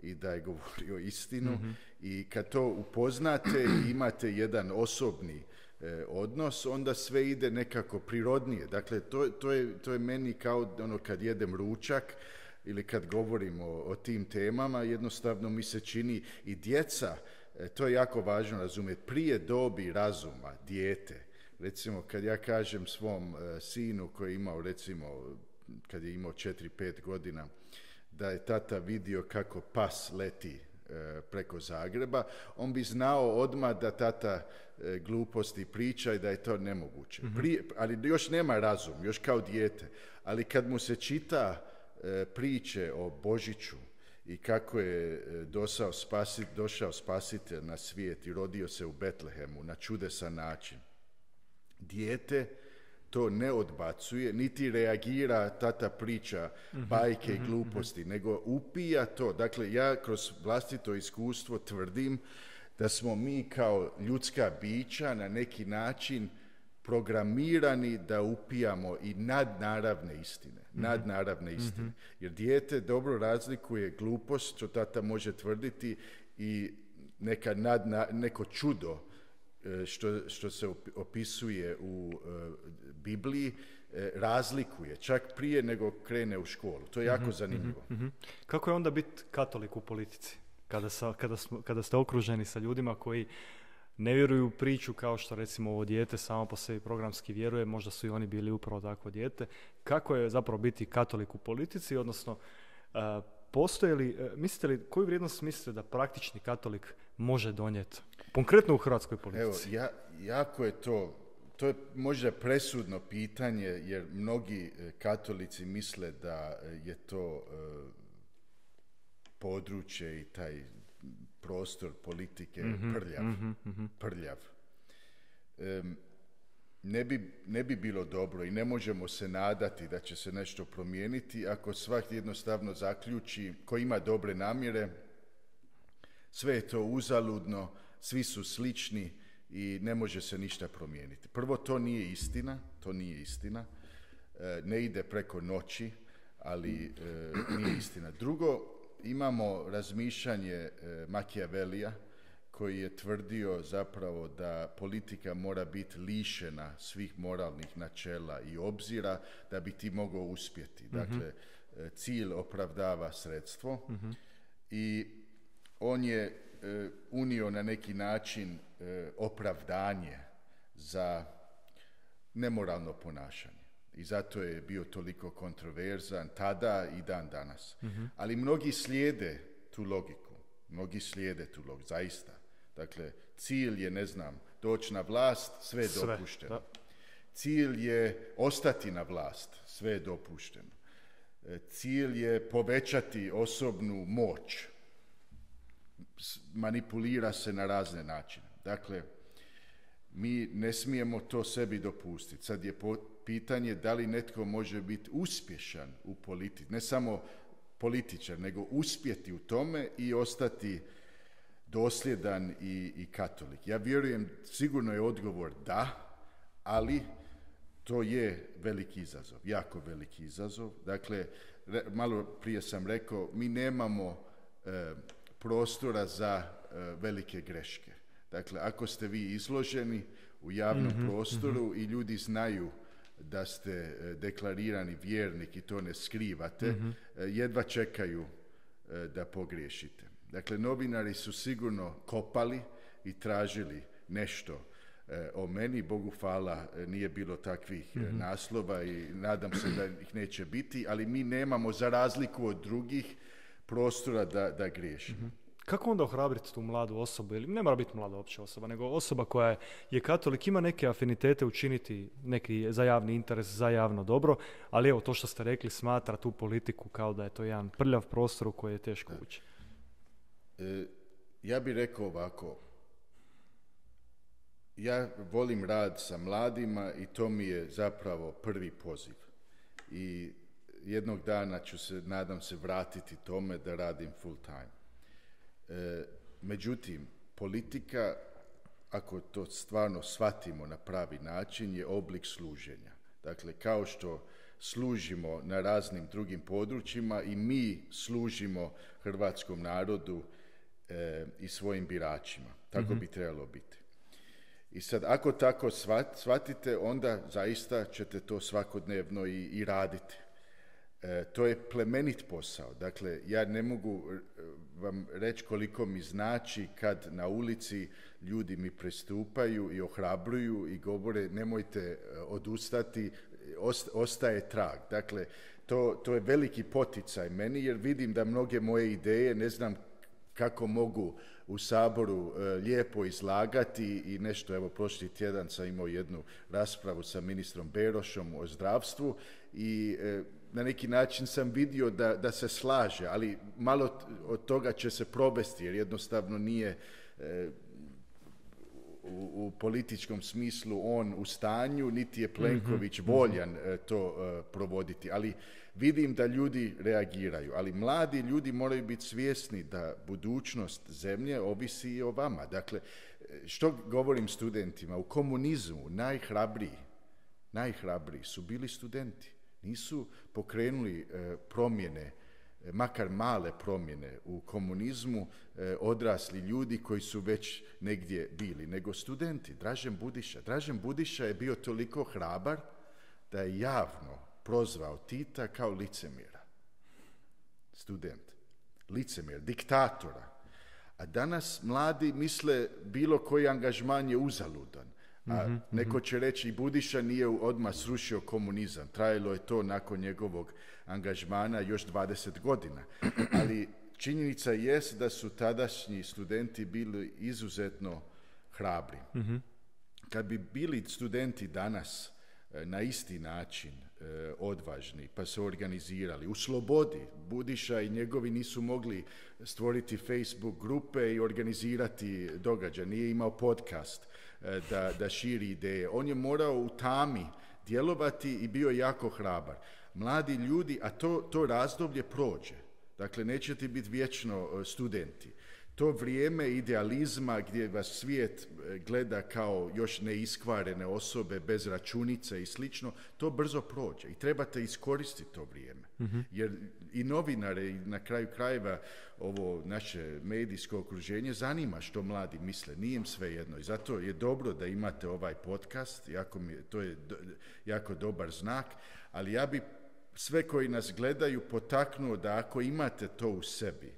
i da je govorio istinu. I kad to upoznate i imate jedan osobni odnos, onda sve ide nekako prirodnije. Dakle, to je meni kao kad jedem ručak ili kad govorimo o tim temama, jednostavno mi se čini i djeca, to je jako važno razumjeti, prije dobi razuma, dijete. Recimo, kad ja kažem svom sinu koji je imao, recimo, kad je imao 4-5 godina, da je tata vidio kako pas leti preko Zagreba, on bi znao odmah da tata gluposti priča i da je to nemoguće. Ali još nema razum, još kao dijete. Ali kad mu se čita priče o Božiću i kako je došao spasitelj na svijet i rodio se u Betlehemu na čudesan način, dijete to ne odbacuje, niti reagira, tata priča bajke i gluposti, nego upija to. Dakle, ja kroz vlastito iskustvo tvrdim da smo mi kao ljudska bića na neki način programirani da upijamo i nadnaravne istine. Jer dijete dobro razlikuje glupost, što tata može tvrditi, i neko čudo što se opisuje u Bibliji, razlikuje, čak prije nego krene u školu. To je jako zanimljivo. Kako je onda biti katolik u politici? Kada ste okruženi sa ljudima koji ne vjeruju u priču kao što recimo ovo dijete samo po sebi programski vjeruje, možda su i oni bili upravo takvo dijete. Kako je zapravo biti katolik u politici, odnosno postoje li, koju vrijednost mislite da praktični katolik može donijeti? Konkretno u hrvatskoj politici. Evo, jako je to je možda presudno pitanje, jer mnogi katolici misle da je to područje i taj prostor politike prljav. Ne bi bilo dobro i ne možemo se nadati da će se nešto promijeniti ako svaki jednostavno zaključi, ko ima dobre namjere, sve je to uzaludno, svi su slični i ne može se ništa promijeniti. Prvo, to nije istina. ne ide preko noći, ali nije istina. Drugo, imamo razmišljanje Machiavellija, koji je tvrdio zapravo da politika mora biti lišena svih moralnih načela i obzira da bi ti mogao uspjeti. Dakle, cilj opravdava sredstvo i on je unio na neki način opravdanje za nemoralno ponašanje. I zato je bio toliko kontroverzan tada i dan danas. Ali mnogi slijede tu logiku. Zaista. Dakle, cilj je, doći na vlast, sve je dopušteno. Da. Cilj je ostati na vlast, sve je dopušteno. Cilj je povećati osobnu moć. Manipulira se na razne načine. Dakle, mi ne smijemo to sebi dopustiti. Sad je pitanje da li netko može biti uspješan u politici, ne samo političar, nego uspjeti u tome i ostati dosljedan i katolik. Ja vjerujem, sigurno je odgovor da, ali to je veliki izazov, jako veliki izazov. Dakle, malo prije sam rekao, mi nemamo prostora za velike greške. Dakle, ako ste vi izloženi u javnom prostoru i ljudi znaju da ste deklarirani vjernik i to ne skrivate, jedva čekaju da pogriješite. Dakle, novinari su sigurno kopali i tražili nešto o meni. Bogu hvala, nije bilo takvih naslova i nadam se da ih neće biti, ali mi nemamo, za razliku od drugih, prostora da griješimo. Kako onda ohrabriti tu mladu osobu, ili ne mora biti mlada opća osoba, nego osoba koja je katolik, ima neke afinitete učiniti neki za javni interes, za javno dobro, ali evo to što ste rekli, smatra tu politiku kao da je to jedan prljav prostor u koji je teško ući. Ja bih rekao ovako, ja volim rad sa mladima i to mi je zapravo prvi poziv. I jednog dana ću se, nadam se, vratiti tome da radim full time. Međutim, politika, ako to stvarno shvatimo na pravi način, je oblik služenja. Dakle, kao što služimo na raznim drugim područjima i mi služimo hrvatskom narodu i svojim biračima. Tako bi trebalo biti. I sad, ako tako shvatite, onda zaista ćete to svakodnevno i raditi. To je plemenit posao. Dakle, ja ne mogu vam reći koliko mi znači kad na ulici ljudi mi pristupaju i ohrabruju i govore nemojte odustati, ostaje trag. Dakle, to je veliki poticaj meni jer vidim da mnoge moje ideje, ne znam kako mogu u Saboru lijepo izlagati i nešto, evo prošli tjedan sam imao jednu raspravu sa ministrom Berošom o zdravstvu i na neki način sam vidio da se slaže, ali malo od toga će se provesti jer jednostavno nije u političkom smislu on u stanju, niti je Plenković voljan to provoditi, ali vidim da ljudi reagiraju, ali mladi ljudi moraju biti svjesni da budućnost zemlje ovisi i o vama. Dakle, što govorim studentima? U komunizmu najhrabriji su bili studenti. Nisu pokrenuli promjene, makar male promjene u komunizmu, odrasli ljudi koji su već negdje bili, nego studenti. Dražen Budiša je bio toliko hrabar da je javno prozvao Tita kao licemjera. Student. Licemjer, diktatora. A danas mladi misle bilo koji angažman je uzaludan. A neko će reći i Budiša nije odmah srušio komunizam. Trajalo je to nakon njegovog angažmana još 20 godina. Ali činjenica jest da su tadašnji studenti bili izuzetno hrabri. Kad bi bili studenti danas na isti način odvažni, pa se organizirali u slobodi, Budiša i njegovi nisu mogli stvoriti Facebook grupe i organizirati događaj, nije imao podcast da širi ideje. On je morao u tami djelovati i bio jako hrabar. Mladi ljudi, a to razdoblje prođe. Dakle, nećete biti vječno studenti. to vrijeme idealizma gdje vas svijet gleda kao još neiskvarene osobe bez računice i slično, to brzo prođe i trebate iskoristiti to vrijeme. Jer i novinare i na kraju krajeva ovo naše medijsko okruženje zanima što mladi misle, nije im svejedno i zato je dobro da imate ovaj podcast, to je jako dobar znak, ali ja bi sve koji nas gledaju potaknuo da ako imate to u sebi,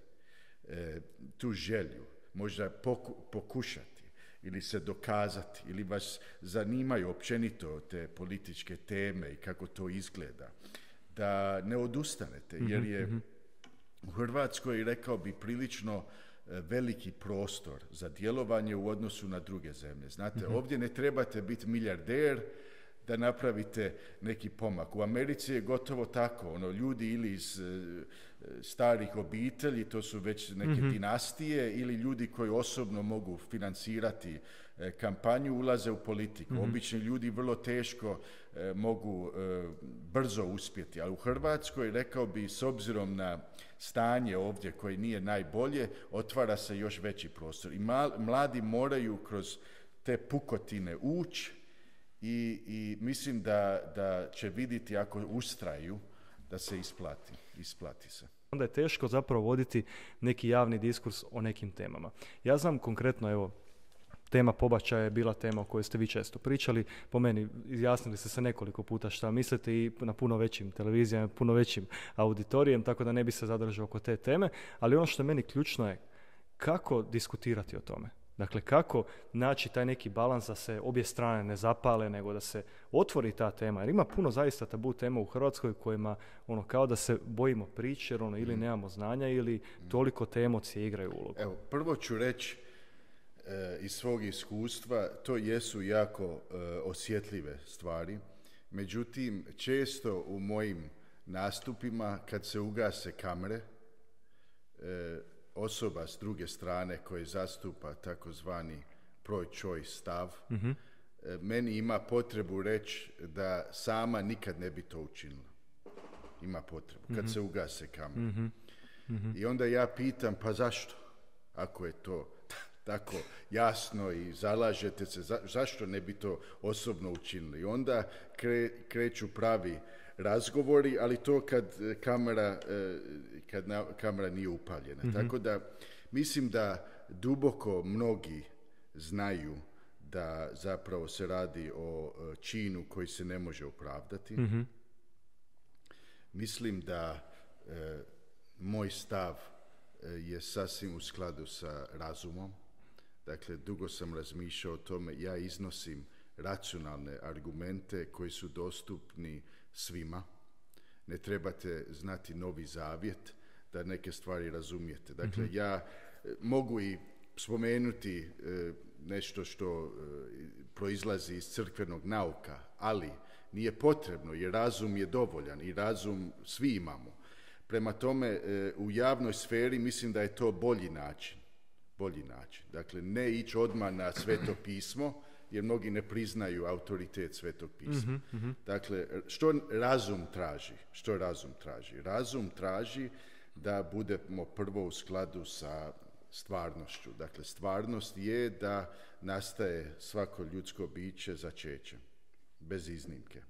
tu želju, možda pokušati ili se dokazati ili vas zanimaju općenito te političke teme i kako to izgleda, da ne odustanete, jer je u Hrvatskoj, rekao bi, prilično veliki prostor za djelovanje u odnosu na druge zemlje. Znate, ovdje ne trebate biti milijarder da napravite neki pomak. U Americi je gotovo tako, ljudi ili iz starih obitelji, to su već neke dinastije, ili ljudi koji osobno mogu financirati kampanju, ulaze u politiku. Obični ljudi vrlo teško mogu brzo uspjeti, ali u Hrvatskoj, rekao bi, s obzirom na stanje ovdje koje nije najbolje, otvara se još veći prostor. I mladi moraju kroz te pukotine ući i mislim da će vidjeti ako ustraju da se isplati se. Onda je teško zapravo voditi neki javni diskurs o nekim temama. Ja znam konkretno, evo, tema pobačaja je bila tema o kojoj ste vi često pričali. Po meni izjasnili ste se nekoliko puta šta mislite i na puno većim televizijama, puno većim auditorijem, tako da ne bi se zadržao oko te teme. Ali ono što je meni ključno je kako diskutirati o tome. Dakle, kako naći taj neki balans da se obje strane ne zapale, nego da se otvori ta tema. Jer ima puno zaista tabu tema u Hrvatskoj kojima kao da se bojimo priče, jer ili nemamo znanja ili toliko te emocije igraju ulogu. Evo, prvo ću reći iz svog iskustva, to jesu jako osjetljive stvari. Međutim, često u mojim nastupima, kad se ugase kamere, osoba s druge strane koja zastupa takozvani pro-choice stav, meni ima potrebu reći da sama nikad ne bi to učinila. Ima potrebu, kad se ugase kamere. I onda ja pitam, pa zašto? Ako je to tako jasno i zalažete se, zašto ne bi to osobno učinili? I onda kreću pravi razgovori, ali to kad kamera nije upaljena. Tako da mislim da duboko mnogi znaju da zapravo se radi o činu koji se ne može opravdati. Mislim da moj stav je sasvim u skladu sa razumom. Dakle, dugo sam razmišljao o tome, ja iznosim racionalne argumente koji su dostupni svima. Ne trebate znati Novi Zavjet da neke stvari razumijete. Dakle, ja mogu i spomenuti nešto što proizlazi iz crkvenog nauka, ali nije potrebno jer razum je dovoljan i razum svi imamo. Prema tome, u javnoj sferi mislim da je to bolji način. Dakle, ne ići odmah na Sveto pismo, jer mnogi ne priznaju autoritet Svetog pisma. Dakle, što razum traži? Razum traži da budemo prvo u skladu sa stvarnošću. Dakle, stvarnost je da nastaje svako ljudsko biće začećem, bez iznimke.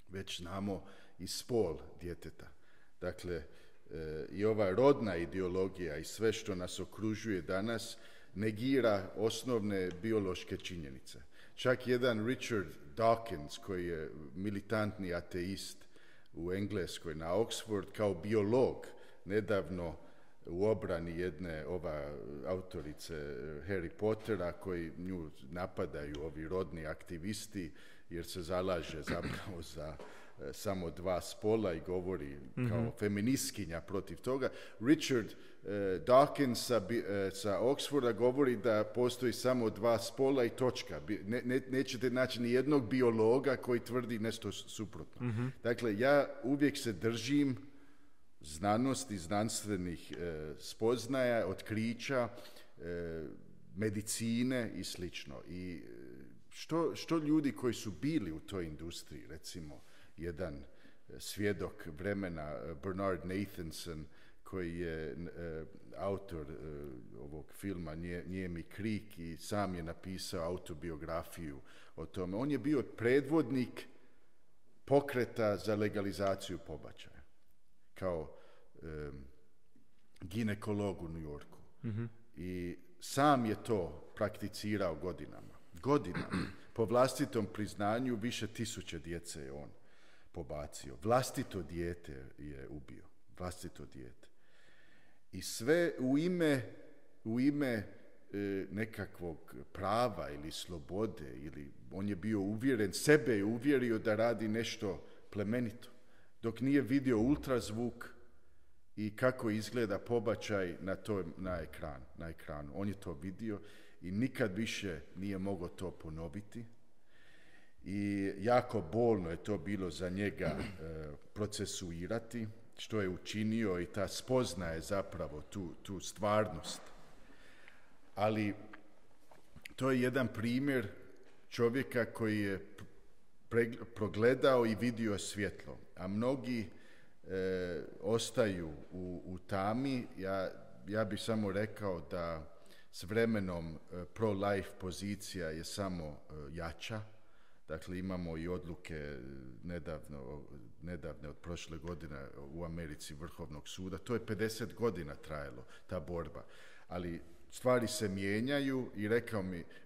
Već znamo i spol djeteta. Dakle, i ova rodna ideologija i sve što nas okružuje danas negira osnovne biološke činjenice. Čak jedan Richard Dawkins, koji je militantni ateist u Engleskoj na Oxford, kao biolog nedavno u obrani jedne autorice Harry Pottera, koji nju napadaju ovi rodni aktivisti jer se zalaže zapravo za samo dva spola i govori kao feministkinja protiv toga. Richard Dawkins sa Oxforda govori da postoji samo dva spola i točka. Nećete naći ni jednog biologa koji tvrdi nešto suprotno. Dakle, ja uvijek se držim znanosti, znanstvenih spoznaja, otkrića, medicine i slično. I što ljudi koji su bili u toj industriji, recimo jedan svjedok vremena, Bernard Nathanson, koji je autor ovog filma Nijemi krik i sam je napisao autobiografiju o tome. On je bio predvodnik pokreta za legalizaciju pobačaja kao ginekolog u New Yorku. I sam je to prakticirao godinama. Po vlastitom priznanju više 1000 djece je on pobacio. Vlastito dijete je ubio. Vlastito dijete. I sve u ime nekakvog prava ili slobode, ili on je bio uvjeren, sebe je uvjerio da radi nešto plemenito. Dok nije vidio ultrazvuk i kako izgleda pobačaj na ekranu. On je to vidio i nikad više nije mogao to ponoviti. I jako bolno je to bilo za njega procesuirati, što je učinio, i ta spoznaje zapravo tu stvarnost. Ali to je jedan primjer čovjeka koji je progledao i vidio svjetlo, a mnogi ostaju u tami. Ja bih samo rekao da s vremenom pro-life pozicija je samo jača. Dakle, imamo i odluke nedavne od prošle godine u Americi Vrhovnog suda. To je 50 godina trajalo, ta borba. Ali stvari se mijenjaju i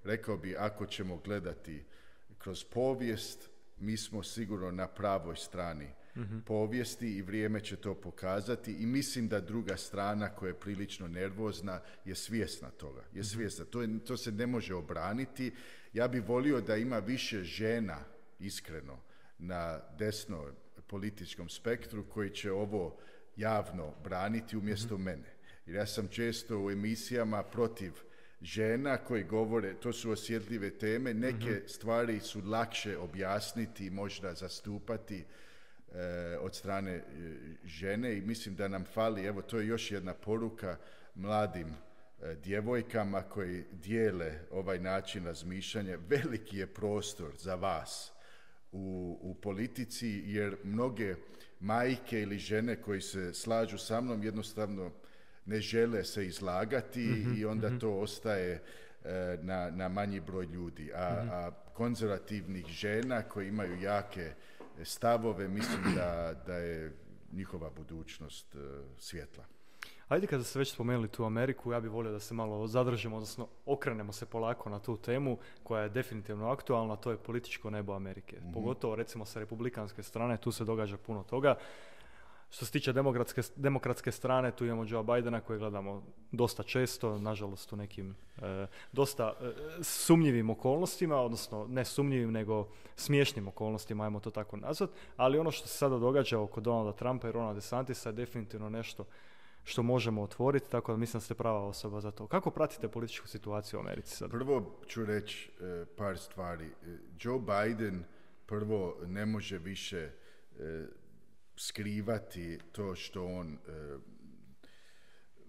rekao bi, ako ćemo gledati kroz povijest, mi smo sigurno na pravoj strani povijesti i vrijeme će to pokazati, i mislim da druga strana koja je prilično nervozna je svjesna toga. To se ne može obraniti. Ja bih volio da ima više žena, iskreno, na desnom političkom spektru koji će ovo javno braniti umjesto mene. Jer ja sam često u emisijama protiv žena koji govore, to su osjetljive teme, neke stvari su lakše objasniti i možda zastupati od strane žene, i mislim da nam fali, evo to je još jedna poruka mladim djevojkama koji dijele ovaj način razmišljanja. Veliki je prostor za vas u politici, jer mnoge majke ili žene koji se slažu sa mnom jednostavno ne žele se izlagati i onda to ostaje na manji broj ljudi. A konzervativnih žena koji imaju jake stavove, mislim da je njihova budućnost svjetla. Ajde, kada ste već spomenuli tu Ameriku, ja bih volio da se malo zadržimo, odnosno okrenemo se polako na tu temu koja je definitivno aktualna, to je političko nebo Amerike. Pogotovo recimo sa republikanske strane, tu se događa puno toga. Što se tiče demokratske strane, tu imamo Joea Bidena koji gledamo dosta često, nažalost u nekim dosta sumnjivim okolnostima, odnosno ne sumnjivim nego smiješnim okolnostima, ajmo to tako nazvat, ali ono što se sada događa oko Donalda Trumpa i Rona DeSantisa je definitivno nešto što možemo otvoriti, tako da mislim da ste prava osoba za to. Kako pratite političku situaciju u Americi sad? Prvo ću reći par stvari. Joe Biden prvo ne može više skrivati to što on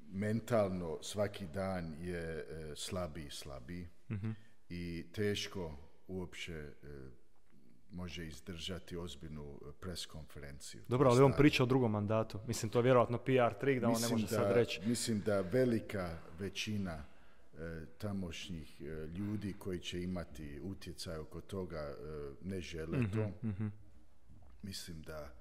mentalno svaki dan je slabiji i teško uopće može izdržati ozbiljnu preskonferenciju. Dobro, ali on priča o drugom mandatu. Mislim, to je vjerojatno PR trik da on ne može sad reći. Mislim da velika većina tamošnjih ljudi koji će imati utjecaj oko toga ne žele to. Mislim da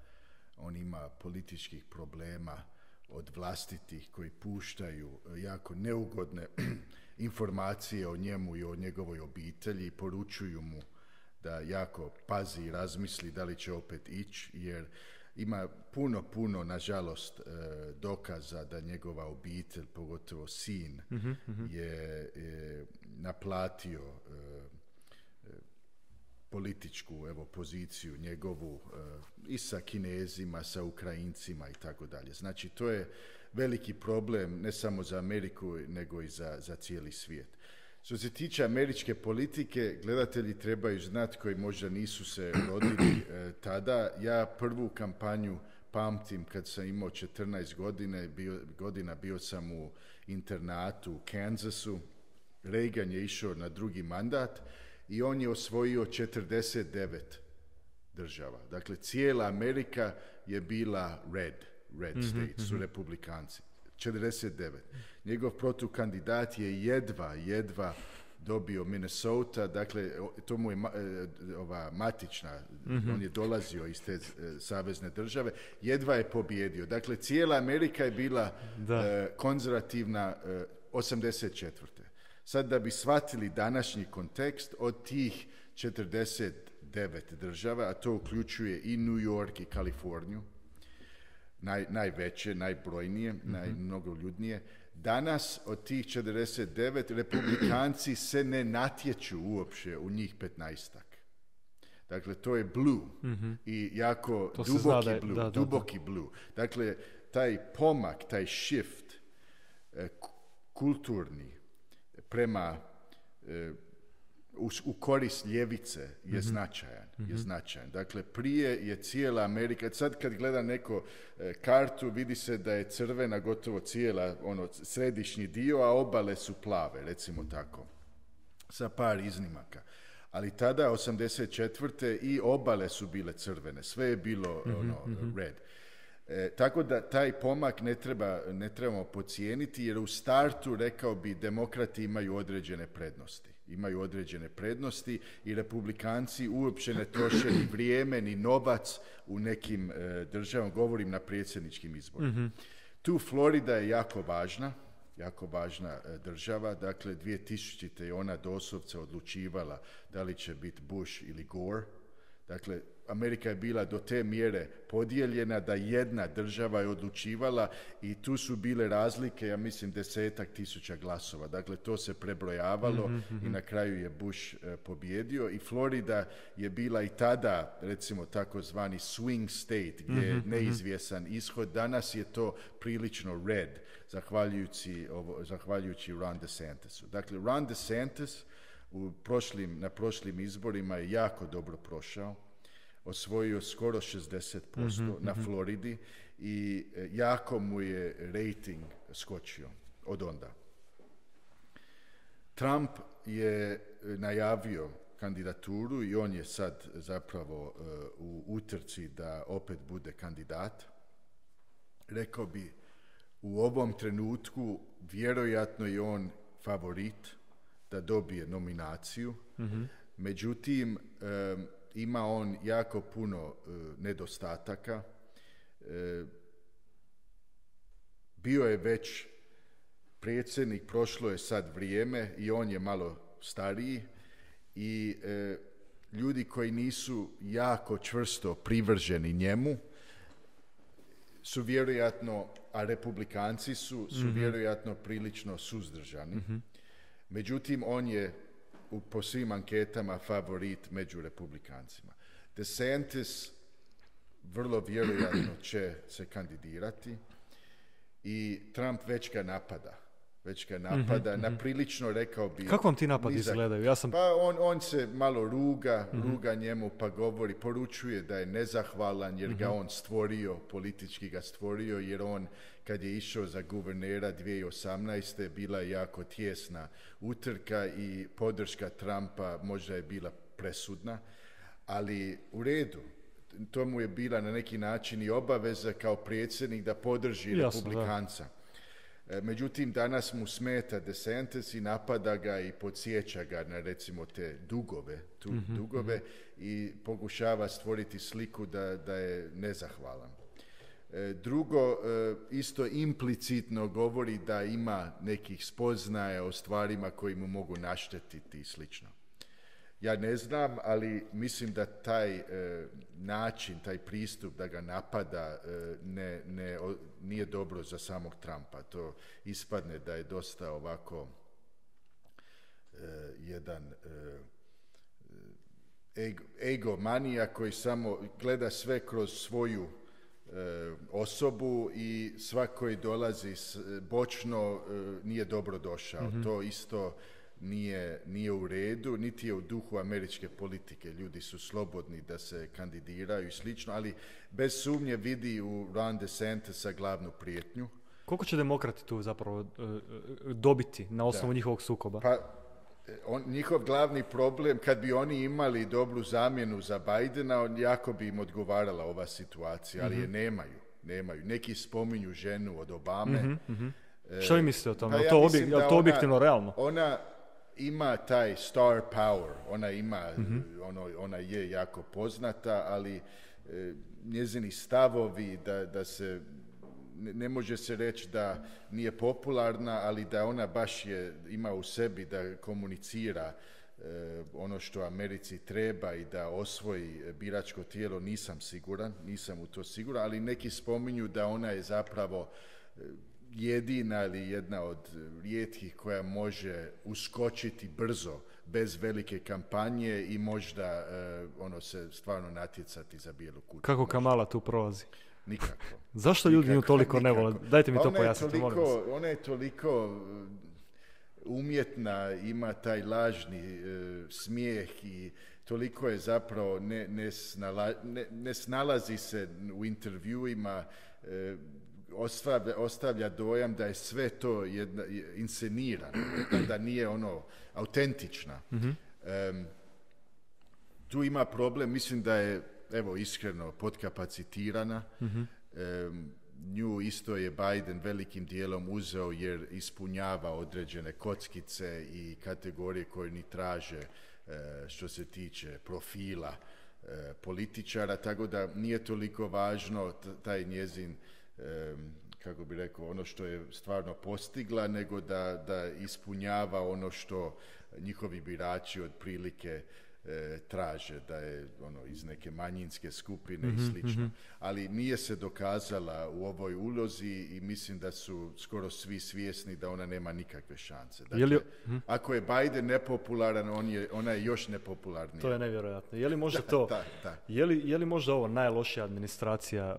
on ima političkih problema od vlastitih koji puštaju jako neugodne informacije o njemu i o njegovoj obitelji i poručuju mu da jako pazi i razmisli da li će opet ići, jer ima puno, nažalost, dokaza da njegova obitelj, pogotovo sin, je naplatio političku poziciju njegovu i sa Kinezima, sa Ukrajincima i tako dalje. Znači, to je veliki problem ne samo za Ameriku, nego i za cijeli svijet. Što se tiče američke politike, gledatelji trebaju znati koji možda nisu se rodili tada. Ja prvu kampanju pamtim kad sam imao 14 godina, bio sam u internatu u Kansasu. Reagan je išao na drugi mandat i on je osvojio 49 država. Dakle, cijela Amerika je bila red, red states su republikanci. 49. Njegov protukandidat je jedva dobio Minnesota, dakle, to mu je ova matična, on je dolazio iz te savezne države, jedva je pobjedio. Dakle, cijela Amerika je bila konzervativna 84. Sad da bi shvatili današnji kontekst, od tih 49 država, a to uključuje i New York i Kaliforniju, najveće, najbrojnije, najmnogoljudnije. Danas od tih 49 republikanci se ne natječu uopće u njih 15-ak. Dakle, to je blue i jako duboki blue. Dakle, taj pomak, taj shift kulturni prema u korist ljevice je značajan. Dakle, prije je cijela Amerika, sad kad gleda neko kartu, vidi se da je crvena gotovo cijela, središnji dio, a obale su plave, recimo tako, sa par iznimaka. Ali tada, 84. i obale su bile crvene, sve je bilo red. Tako da taj pomak ne trebamo podcijeniti, jer u startu, rekao bi, demokrati imaju određene prednosti i republikanci uopće ne troše ni vrijeme ni novac u nekim državama, govorim na predsjedničkim izborima. Tu Florida je jako važna država, dakle 2000. je ona doslovce odlučivala da li će biti Bush ili Gore. Dakle, Amerika je bila do te mjere podijeljena da jedna država je odlučivala i tu su bile razlike, ja mislim, 10,000 glasova. Dakle, to se prebrojavalo i na kraju je Bush pobjedio i Florida je bila i tada, recimo, takozvani swing state, gdje je neizvjesan ishod. Danas je to prilično red, zahvaljujući Ron DeSantisu. Dakle, Ron DeSantis na prošlim izborima je jako dobro prošao, osvojio skoro 60% na Floridi i jako mu je rating skočio od onda. Trump je najavio kandidaturu i on je sad zapravo u utrci da opet bude kandidat. Rekao bi, u ovom trenutku vjerojatno je on favorit da dobije nominaciju. Međutim, ima on jako puno nedostataka. Bio je već predsjednik, prošlo je sad vrijeme i on je malo stariji i ljudi koji nisu jako čvrsto privrženi njemu su vjerojatno, a republikanci su vjerojatno prilično suzdržani. Međutim, on je po svim anketama favorit među republikancima. DeSantis vrlo vjerojatno će se kandidirati i Trump već ga napada. Na prilično, rekao bi... Kako vam ti napadi izgledaju? Pa on se malo ruga njemu, pa poručuje da je nezahvalan jer ga on stvorio, politički ga stvorio, jer on, kad je išao za guvernera 2018. bila je jako tijesna utrka i podrška Trumpa možda je bila presudna, ali u redu. To mu je bila na neki način i obaveza kao predsjednik da podrži republikanca. Međutim, danas mu smeta DeSantis i napada ga i podsjeća ga na, recimo, te dugove i pokušava stvoriti sliku da je nezahvalan. Drugo, isto implicitno govori da ima nekih spoznaja o stvarima koji mu mogu naštetiti i slično. Ja ne znam, ali mislim da taj način, taj pristup da ga napada nije dobro za samog Trumpa. To ispadne da je dosta ovako jedan egomanija koji samo gleda sve kroz svoju osobu i svak koji dolazi bočno nije dobro došao. To isto nije u redu, niti je u duhu američke politike. Ljudi su slobodni da se kandidiraju i slično, ali bez sumnje vidi u Ron DeSantisa glavnu prijetnju. Koliko će demokrati tu zapravo dobiti na osnovu njihovog sukoba? Pa, njihov glavni problem, kad bi oni imali dobru zamjenu za Bidena, jako bi im odgovarala ova situacija, ali je nemaju. nemaju. Neki spominju ženu od Obame. Što vi mislite o tome? Pa Je ja li mislim da to objektivno realno? Ona ima taj star power, ona ima, ona je jako poznata, ali njezini stavovi da se, ne može se reći da nije popularna, ali da ona baš ima u sebi da komunicira ono što Americi treba i da osvoji biračko tijelo, nisam u to siguran, ali neki spominju da ona je zapravo jedina ili jedna od rijetkih koja može uskočiti brzo, bez velike kampanje i možda se stvarno natjecati za bijelu kuću. Kako Kamala tu prolazi? Nikako. Zašto ljudi nju toliko ne vole? Dajte mi to pojasnite, molim vas. Ona je toliko umjetna, ima taj lažni smijeh i toliko je zapravo ne snalazi se u intervjuima, ostavlja dojam da je sve to inscenirano, da nije autentična. Tu ima problem, mislim da je, iskreno, podkapacitirana. Nju isto je Biden velikim dijelom uzeo jer ispunjava određene kockice i kategorije koje ni traže što se tiče profila političara, tako da nije toliko važno taj njezin, kako bi rekao, ono što je stvarno postigla, nego da ispunjava ono što njihovi birači otprilike traže, da je iz neke manjinske skupine i slično. Ali nije se dokazala u ovoj ulozi i mislim da su skoro svi svjesni da ona nema nikakve šanse. Dakle, ako je Biden nepopularan, ona je još nepopularnija. To je nevjerojatno. Je li možda to? Da. Je li možda ovo najlošija administracija?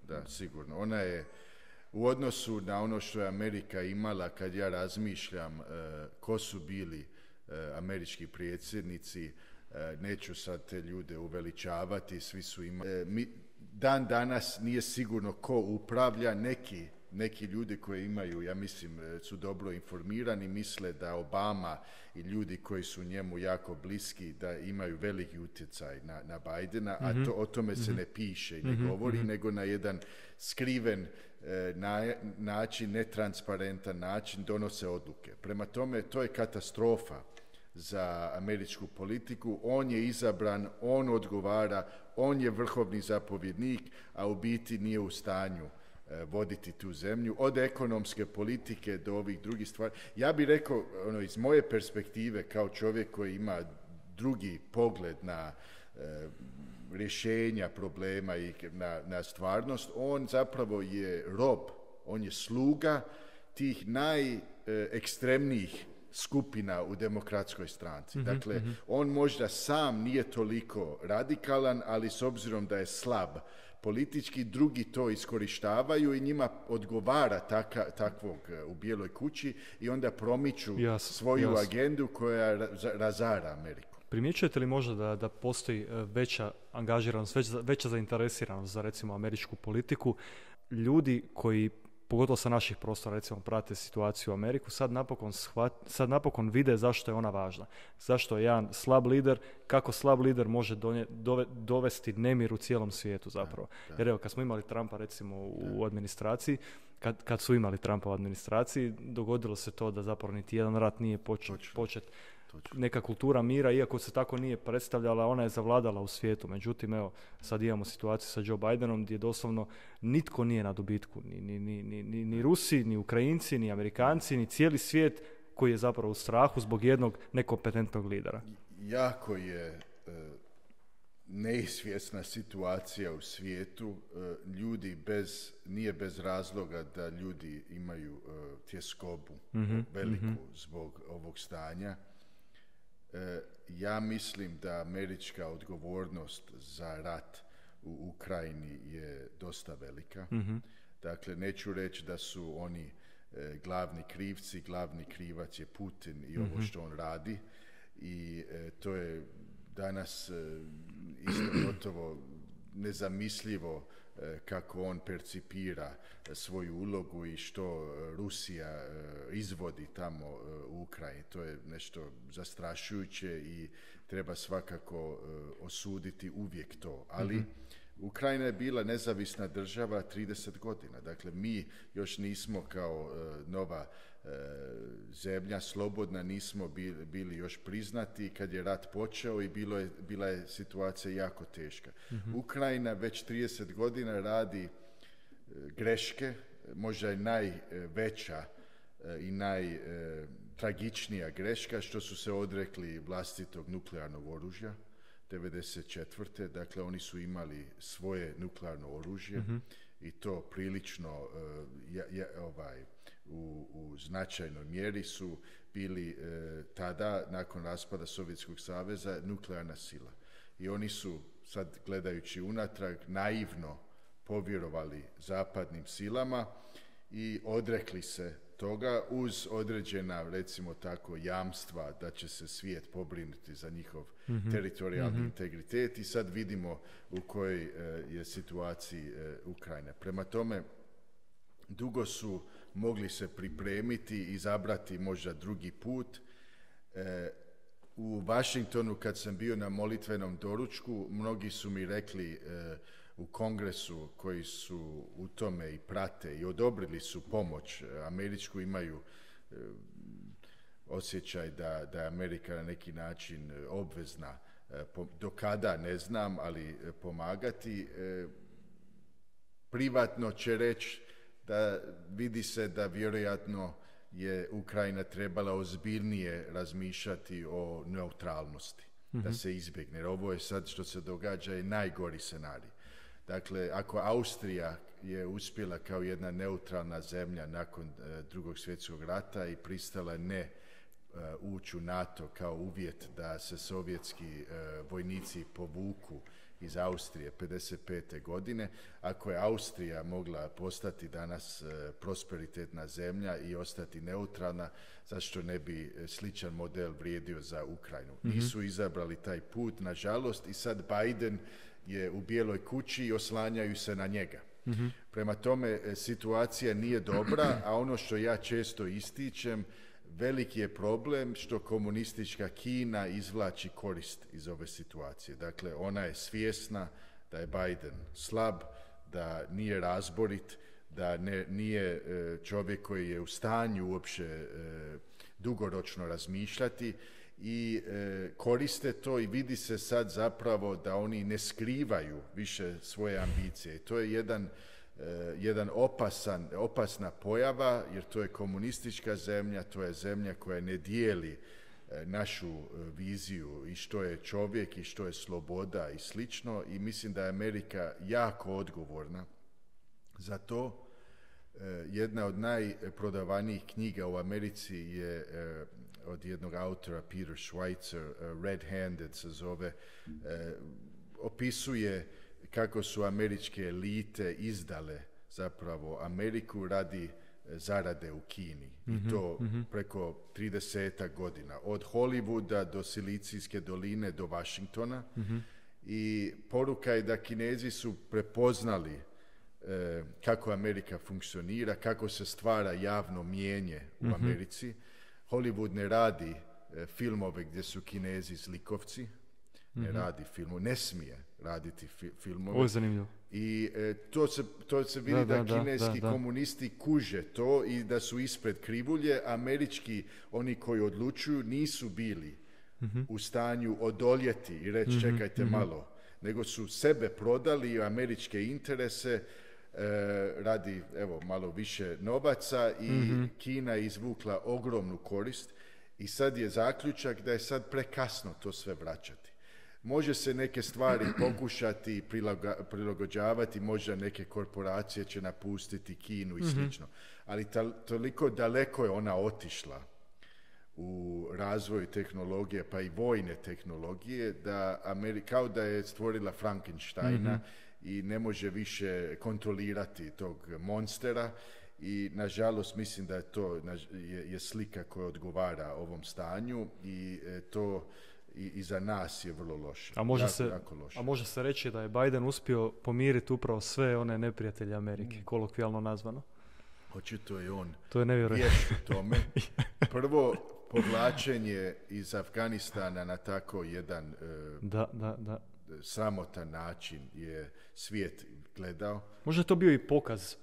Da, sigurno. Ona je u odnosu na ono što je Amerika imala, kad ja razmišljam ko su bili američki predsjednici, neću sad te ljude uveličavati, svi su imali. Dan danas nije sigurno ko upravlja, neki ljudi koji imaju, ja mislim, su dobro informirani, misle da Obama i ljudi koji su njemu jako bliski, da imaju veliki utjecaj na Bidena, a o tome se ne piše i ne govori, nego na jedan skriven način, netransparentan način donose odluke. Prema tome, to je katastrofa za američku politiku. On je izabran, on odgovara, on je vrhovni zapovjednik, a u biti nije u stanju voditi tu zemlju, od ekonomske politike do ovih drugih stvari. Ja bih rekao, iz moje perspektive, kao čovjek koji ima drugi pogled na rješenja problema i na stvarnost, on zapravo je rob, on je sluga tih najekstremnijih skupina u demokratskoj stranci. Dakle, on možda sam nije toliko radikalan, ali s obzirom da je slab politički, drugi to iskorištavaju i njima odgovara takvog u Bijeloj kući i onda promiču svoju agendu koja razara Ameriku. Primjećujete li možda da postoji veća angažiranost, veća zainteresiranost za recimo američku politiku, ljudi koji pogotovo sa naših prostora, recimo, prate situaciju u Ameriku, sad napokon vide zašto je ona važna. Zašto je jedan slab lider, kako slab lider može dovesti nemir u cijelom svijetu zapravo. Jer evo, kad smo imali Trumpa recimo u administraciji, kad su imali Trumpa u administraciji, dogodilo se to da zapravo niti jedan rat nije počet. Neka kultura mira, iako se tako nije predstavljala, ona je zavladala u svijetu. Međutim, evo, sad imamo situaciju sa Joe Bidenom gdje doslovno nitko nije na dobitku. Ni Rusi, ni Ukrajinci, ni Amerikanci, ni cijeli svijet koji je zapravo u strahu zbog jednog nekompetentnog lidera. Jako je neizvjesna situacija u svijetu. Ljudi nije bez razloga da ljudi imaju tjeskobu veliku zbog ovog stanja. Ja mislim da američka odgovornost za rat u Ukrajini je dosta velika. Dakle, neću reći da su oni glavni krivci, glavni krivac je Putin i ovo što on radi. I to je danas isto gotovo nezamislivo kako on percipira svoju ulogu i što Rusija izvodi tamo u Ukrajini. To je nešto zastrašujuće i treba svakako osuditi uvijek to. Ali Ukrajina je bila nezavisna država 30 godina. Dakle, mi još nismo kao nova zemlja, slobodna, nismo bili još priznati kad je rat počeo i bila je situacija jako teška. Ukrajina već 30 godina radi greške, možda je najveća i najtragičnija greška što su se odrekli vlastitog nuklearnog oružja 1994. Dakle, oni su imali svoje nuklearno oružje i to prilično u značajnoj mjeri su bili tada, nakon raspada Sovjetskog saveza, nuklearna sila. I oni su, sad gledajući unatrag, naivno povjerovali zapadnim silama i odrekli se toga uz određena, recimo tako, jamstva da će se svijet pobrinuti za njihov teritorijalni integritet i sad vidimo u kojoj je situaciji Ukrajina. Prema tome, dugo su mogli se pripremiti i izabrati možda drugi put. U Washingtonu kad sam bio na molitvenom doručku, mnogi su mi rekli u kongresu koji su u tome i prate i odobrili su pomoć američku, imaju osjećaj da je Amerika na neki način obvezna, do kada ne znam, ali pomagati. Privatno će reći da vidi se da vjerojatno je Ukrajina trebala ozbiljnije razmišljati o neutralnosti, da se izbjegne. Jer ovo je sad što se događa je najgori scenarij. Dakle, ako Austrija je uspjela kao jedna neutralna zemlja nakon Drugog svjetskog rata i pristala ne ući u NATO kao uvjet da se sovjetski vojnici povuku iz Austrije 55. godine, ako je Austrija mogla postati danas prosperitetna zemlja i ostati neutralna, zašto ne bi sličan model vrijedio za Ukrajinu? Nisu izabrali taj put, nažalost, i sad Biden je u Bijeloj kući i oslanjaju se na njega. Prema tome, situacija nije dobra, a ono što ja često ističem, veliki je problem što komunistička Kina izvlači korist iz ove situacije. Dakle, ona je svjesna da je Biden slab, da nije razborit, da nije čovjek koji je u stanju uopće dugoročno razmišljati i koriste to i vidi se sad zapravo da oni ne skrivaju više svoje ambicije. To je jedan opasna pojava, jer to je komunistička zemlja, to je zemlja koja ne dijeli našu viziju i što je čovjek i što je sloboda i slično, i mislim da je Amerika jako odgovorna za to. Jedna od najprodavanijih knjiga u Americi je od jednog autora, Peter Schweitzer, Red-Handed se zove, opisuje kako su američke elite izdale zapravo Ameriku radi zarade u Kini. I to preko 30 godina. Od Hollywooda do Silicijske doline do Washingtona. I poruka je da Kinezi su prepoznali kako Amerika funkcionira, kako se stvara javno mnijenje u Americi. Hollywood ne radi filmove gdje su Kinezi zlikovci, ne radi filmove, ne smije raditi filmove. Ovo je zanimljivo. I to se vidi da kineski komunisti kuže to i da su ispred krivulje. Američki, oni koji odlučuju, nisu bili u stanju odoljeti i reći čekajte malo, nego su sebe prodali i američke interese radi malo više novaca i Kina je izvukla ogromnu korist i sad je zaključak da je sad prekasno to sve vraćati. Može se neke stvari pokušati prilagođavati, možda neke korporacije će napustiti Kinu i slično, ali toliko daleko je ona otišla u razvoju tehnologije, pa i vojne tehnologije, da kao da je stvorila Frankensteina i ne može više kontrolirati tog monstera. I nažalost mislim da je to je slika koja odgovara ovom stanju i to i za nas je vrlo loše. A može se reći da je Biden uspio pomiriti upravo sve one neprijatelje Amerike, kolokvijalno nazvano. Očito je on vješt u tome. Prvo, povlačenje iz Afganistana na tako jedan sramotan način je svijet gledao. Možda je to bio i pokaz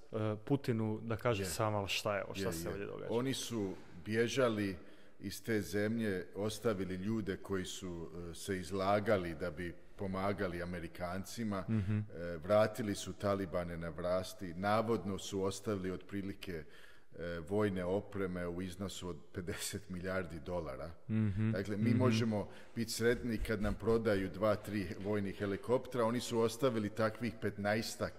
Putinu da kaže sam, ali šta je ovo, šta se ovdje događa? Oni su bježali iz te zemlje, ostavili ljude koji su se izlagali da bi pomagali Amerikancima, vratili su Talibane na vlasti, navodno su ostavili otprilike vojne opreme u iznosu od $50 milijardi. Dakle, mi možemo biti sretni kad nam prodaju 2-3 vojnih helikoptera, oni su ostavili takvih 15-ak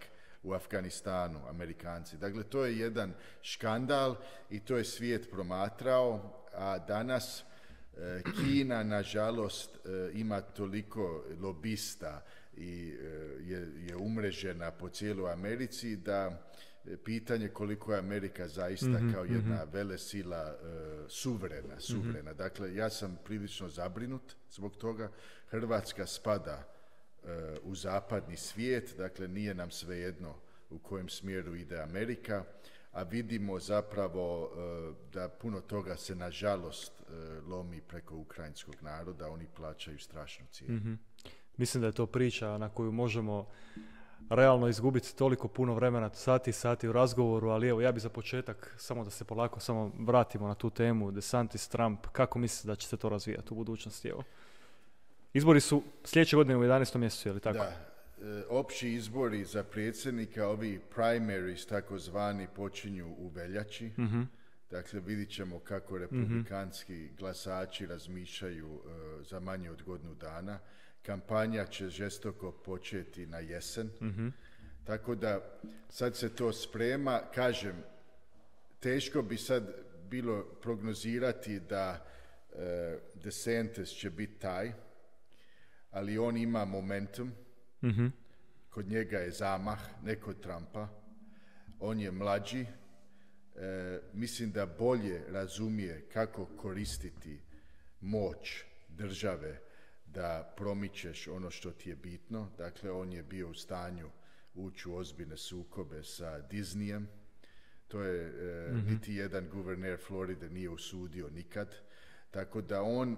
u Afganistanu, Amerikanci. Dakle, to je jedan škandal i to je svijet promatrao, a danas Kina, nažalost, ima toliko lobista i je umrežena po cijeloj Americi da pitanje koliko je Amerika zaista kao jedna velesila suverena. Dakle, ja sam prilično zabrinut zbog toga. Hrvatska spada u zapadni svijet, dakle nije nam svejedno u kojem smjeru ide Amerika, a vidimo zapravo da puno toga se nažalost lomi preko ukrajinskog naroda, oni plaćaju strašnu cijenu. Mislim da je to priča na koju možemo realno izgubiti toliko puno vremena, sati u razgovoru, ali evo ja bi za početak, samo da se polako samo vratimo na tu temu, DeSantis, Trump, kako mislite da će se to razvijati u budućnosti? Evo. Izbori su sljedeće godine u 11. mjesecu, je li tako? Da, opći izbori za predsjednika, ovi primaries takozvani, počinju u veljači. Dakle, vidit ćemo kako republikanski glasači razmišljaju za manje od godinu dana. Kampanja će žestoko početi na jesen. Tako da sad se to sprema. Kažem, teško bi sad bilo prognozirati da DeSantis će biti taj, ali on ima momentum. Kod njega je zamah, ne kod Trumpa. On je mlađi. Mislim da bolje razumije kako koristiti moć države da promičeš ono što ti je bitno. Dakle, on je bio u stanju ući u ozbiljne sukobe sa Disneyem. To je niti jedan guverner Floride nije usudio nikad. Tako da on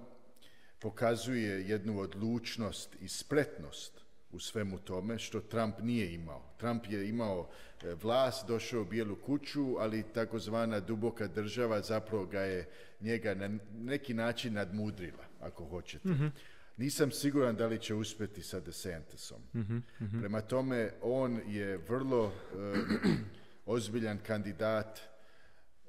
pokazuje jednu odlučnost i spretnost u svemu tome, što Trump nije imao. Trump je imao vlast, došao u Bijelu kuću, ali takozvana duboka država zapravo ga je njega na neki način nadmudrila, ako hoćete. Nisam siguran da li će uspjeti sa DeSantisom. Prema tome, on je vrlo ozbiljan kandidat.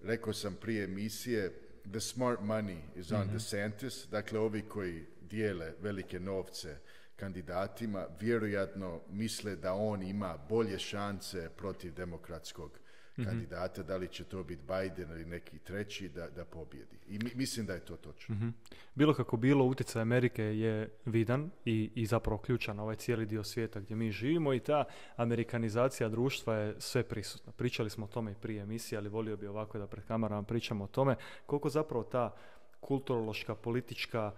Rekao sam prije emisije, the smart money is on DeSantis. Dakle, ovi koji dijele velike novce kandidatima vjerojatno misle da on ima bolje šanse protiv demokratskog kandidata, da li će to biti Biden ili neki treći, da pobjedi. I mislim da je to točno. Bilo kako bilo, utjecaj Amerike je vidan i zapravo ključan na ovaj cijeli dio svijeta gdje mi živimo i ta amerikanizacija društva je sve prisutna. Pričali smo o tome i prije emisije, ali volio bi ovako da pred kamerama pričamo o tome koliko zapravo ta kulturološka, politička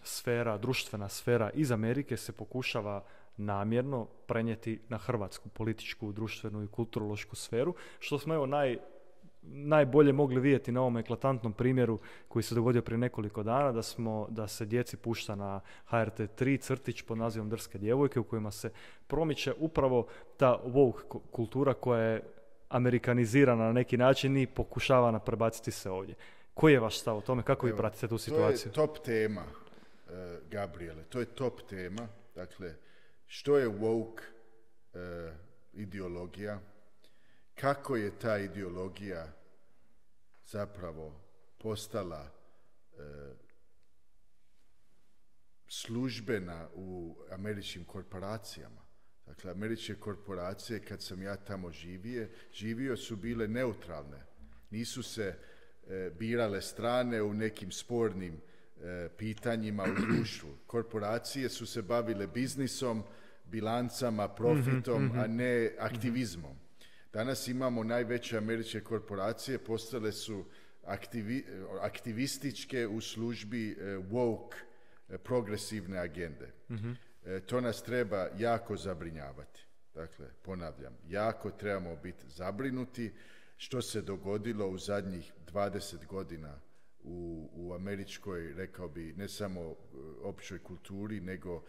sfera, društvena sfera iz Amerike se pokušava namjerno prenijeti na hrvatsku političku, društvenu i kulturološku sferu, što smo evo najbolje mogli vidjeti na ovom eklatantnom primjeru koji se dogodio prije nekoliko dana, da se djeci pušta na HRT3 crtić pod nazivom Drske djevojke u kojima se promiče upravo ta woke kultura koja je amerikanizirana na neki način i pokušava prebaciti se ovdje. Koji je vaš stav o tome? Kako vi pratite tu situaciju? To je top tema, Gabriele. To je top tema. Dakle, što je woke ideologija? Kako je ta ideologija zapravo postala službena u američkim korporacijama? Dakle, američke korporacije, kad sam ja tamo živio su bile neutralne. Nisu se birale strane u nekim spornim pitanjima u društvu. Korporacije su se bavile biznisom, bilancama, profitom, a ne aktivizmom. Danas imamo najveće američke korporacije, postale su aktivističke u službi woke, progresivne agende. To nas treba jako zabrinjavati. Dakle, ponavljam, jako trebamo biti zabrinuti što se dogodilo u zadnjih 20 godina u američkoj, rekao bi, ne samo općoj kulturi, nego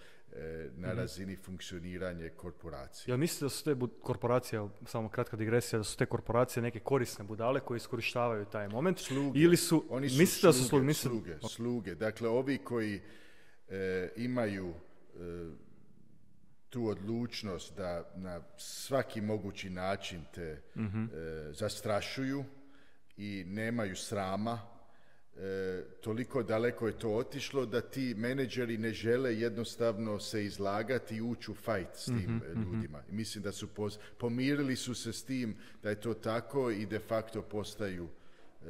na razini funkcioniranja korporacije. Ja mislite da su te korporacije, samo kratka digresija, da su te korporacije neke korisne budale koje iskorištavaju taj moment? Sluge. Ili su, Oni su mislite sluge, da su sluge. Dakle, ovi koji imaju tu odlučnost da na svaki mogući način te zastrašuju i nemaju srama, toliko daleko je to otišlo da ti menadžeri ne žele jednostavno se izlagati i ući u fight s tim ljudima. Mislim da su pomirili su se s tim da je to tako i de facto postaju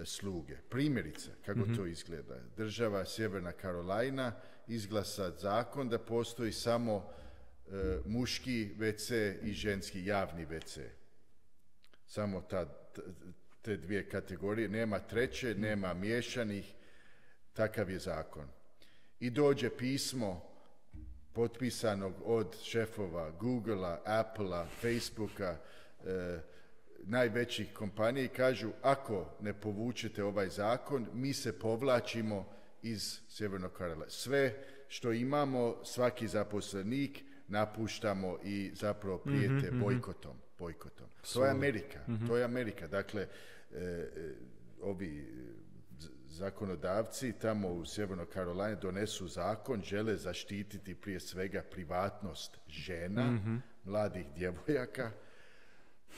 sluge. Primjerice, kako to izgleda. Država Sjeverna Karolina izglasa zakon da postoji samo muški WC i ženski javni WC. Samo te dvije kategorije, nema treće, nema miješanih, takav je zakon. I dođe pismo potpisanog od šefova Googlea, Applea, Facebooka, najvećih kompanija i kažu ako ne povučete ovaj zakon, mi se povlačimo iz Sjevernog Karolina. Sve što imamo, svaki zaposlenik napuštamo i zapravo prijete bojkotom. To je Amerika. To je Amerika. Dakle, ovi zakonodavci tamo u Sjevernoj Karolini donesu zakon, žele zaštititi prije svega privatnost žena, mladih djevojaka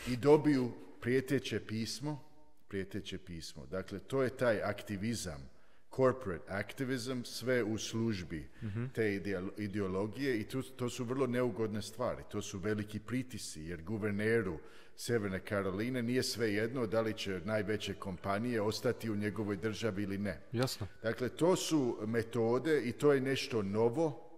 i dobiju prijeteće pismo. Dakle, to je taj aktivizam, corporate activism, sve u službi te ideologije i to su vrlo neugodne stvari. To su veliki pritisci jer guverneru Sjeverne Karoline nije svejedno da li će najveće kompanije ostati u njegovoj državi ili ne. Jasno. Dakle, to su metode i to je nešto novo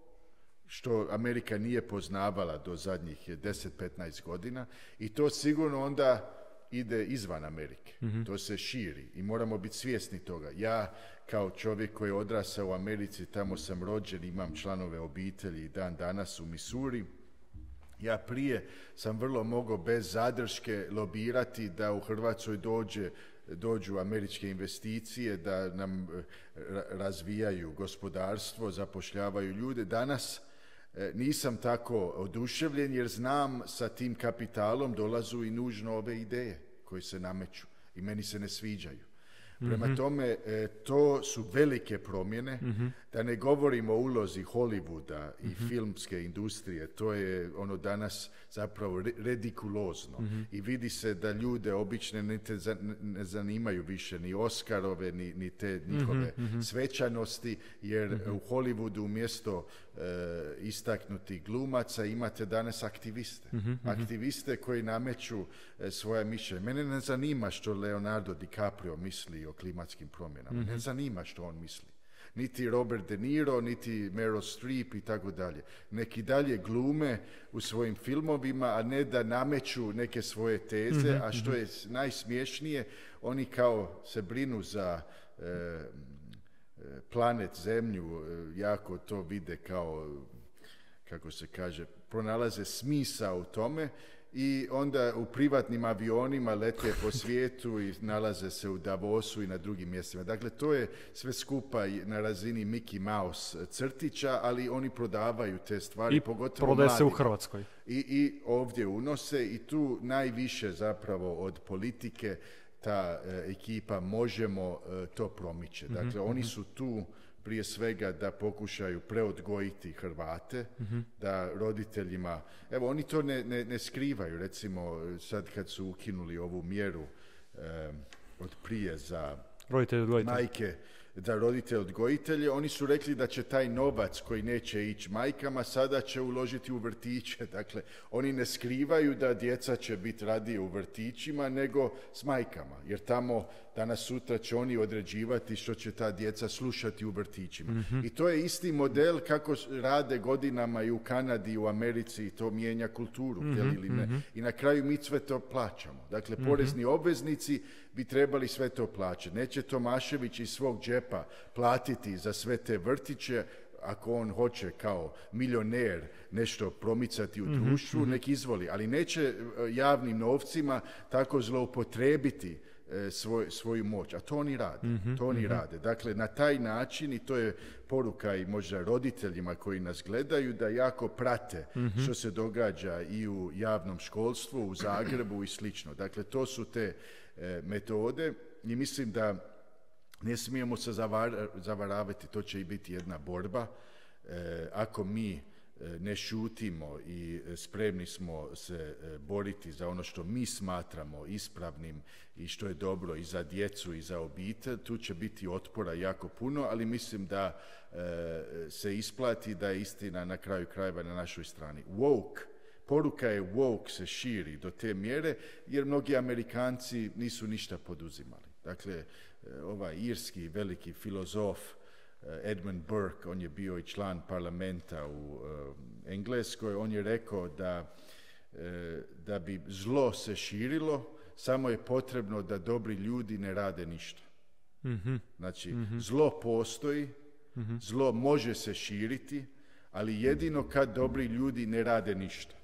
što Amerika nije poznavala do zadnjih 10-15 godina i to sigurno onda ide izvan Amerike. To se širi i moramo biti svjesni toga. Ja kao čovjek koji je odrasao u Americi, tamo sam rođen, imam članove obitelji i dan danas u Missouri. Ja prije sam vrlo mogao bez zadrške lobirati da u Hrvatskoj dođu američke investicije, da nam razvijaju gospodarstvo, zapošljavaju ljude. Danas nisam tako oduševljen jer znam sa tim kapitalom dolazu i nužno ove ideje koje se nameću i meni se ne sviđaju. Prema tome, to su velike promjene, da ne govorimo o ulozi Hollywooda i filmske industrije, to je ono danas zapravo redikulozno i vidi se da ljude obične ne zanimaju više ni Oscarove, ni te njihove svečanosti, jer u Hollywoodu umjesto istaknutih glumaca imate danas aktiviste. Aktiviste koji nameću svoje mišljenje. Mene ne zanima što Leonardo DiCaprio misli o klimatskim promjenama. Ne zanima što on misli. Niti Robert De Niro, niti Meryl Streep i tako dalje. Neki dalje glume u svojim filmovima, a ne da nameću neke svoje teze, a što je najsmiješnije, oni kao se brinu za planet Zemlju, jako to vide kao, kako se kaže, pronalaze smisao u tome i onda u privatnim avionima lete po svijetu i nalaze se u Davosu i na drugim mjestima. Dakle, to je sve skupa na razini Mickey Mouse crtića, ali oni prodavaju te stvari, i pogotovo prodaje se u mladima. Hrvatskoj. I ovdje unose i tu najviše zapravo od politike ta ekipa Možemo to promiče. Dakle, oni su tu prije svega da pokušaju preodgojiti Hrvate, da roditeljima, evo oni to ne skrivaju, recimo sad kad su ukinuli ovu mjeru od prije za majke, za roditelje odgojitelje, oni su rekli da će taj novac koji neće ići majkama sada će uložiti u vrtiće. Dakle, oni ne skrivaju da djeca će biti radije u vrtićima nego s majkama, jer tamo danas sutra će oni određivati što će ta djeca slušati u vrtićima. I to je isti model kako rade godinama i u Kanadi i u Americi i to mijenja kulturu, ili ne. I na kraju mi sve to plaćamo. Dakle, porezni obveznici bi trebali sve to plaćati. Neće Tomašević iz svog džepa platiti za sve te vrtiće, ako on hoće kao milioner nešto promicati u društvu, nek izvoli, ali neće javnim novcima tako zloupotrebiti svoju moć, a to oni rade. Dakle, na taj način, i to je poruka i možda roditeljima koji nas gledaju, da jako prate što se događa i u javnom školstvu, u Zagrebu i slično. Dakle, to su te metode i mislim da ne smijemo se zavaravati, to će i biti jedna borba. Ako mi ne šutimo i spremni smo se boriti za ono što mi smatramo ispravnim i što je dobro i za djecu i za obitelj, tu će biti otpora jako puno, ali mislim da se isplati, da je istina na kraju krajeva na našoj strani. Poruka je woke se širi do te mjere jer mnogi Amerikanci nisu ništa poduzimali. Dakle, ovaj irski veliki filozof Edmund Burke, on je bio i član parlamenta u Engleskoj, on je rekao da bi zlo se širilo, samo je potrebno da dobri ljudi ne rade ništa. Znači, zlo postoji, zlo može se širiti, ali jedino kad dobri ljudi ne rade ništa.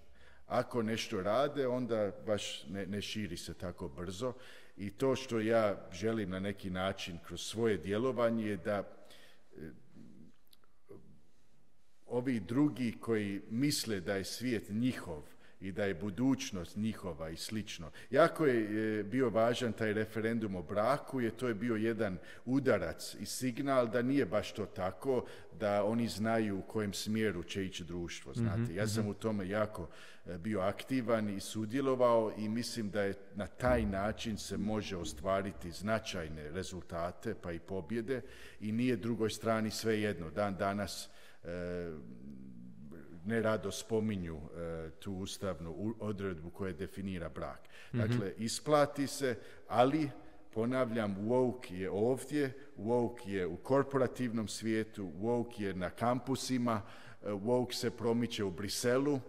Ako nešto rade, onda baš ne širi se tako brzo. I to što ja želim na neki način kroz svoje djelovanje je da ovi drugi koji misle da je svijet njihov i da je budućnost njihova i slično. Jako je bio važan taj referendum o braku, jer to je bio jedan udarac i signal da nije baš to tako, da oni znaju u kojem smjeru će ići društvo. Znate. Ja sam u tome jako bio aktivan i sudjelovao i mislim da je na taj način se može ostvariti značajne rezultate pa i pobjede i nije drugoj strani svejedno. Dan danas nerado spominju tu ustavnu odredbu koja definira brak. Dakle, isplati se, ali ponavljam, woke je ovdje, woke je u korporativnom svijetu, woke je na kampusima, woke se promiče u Briselu.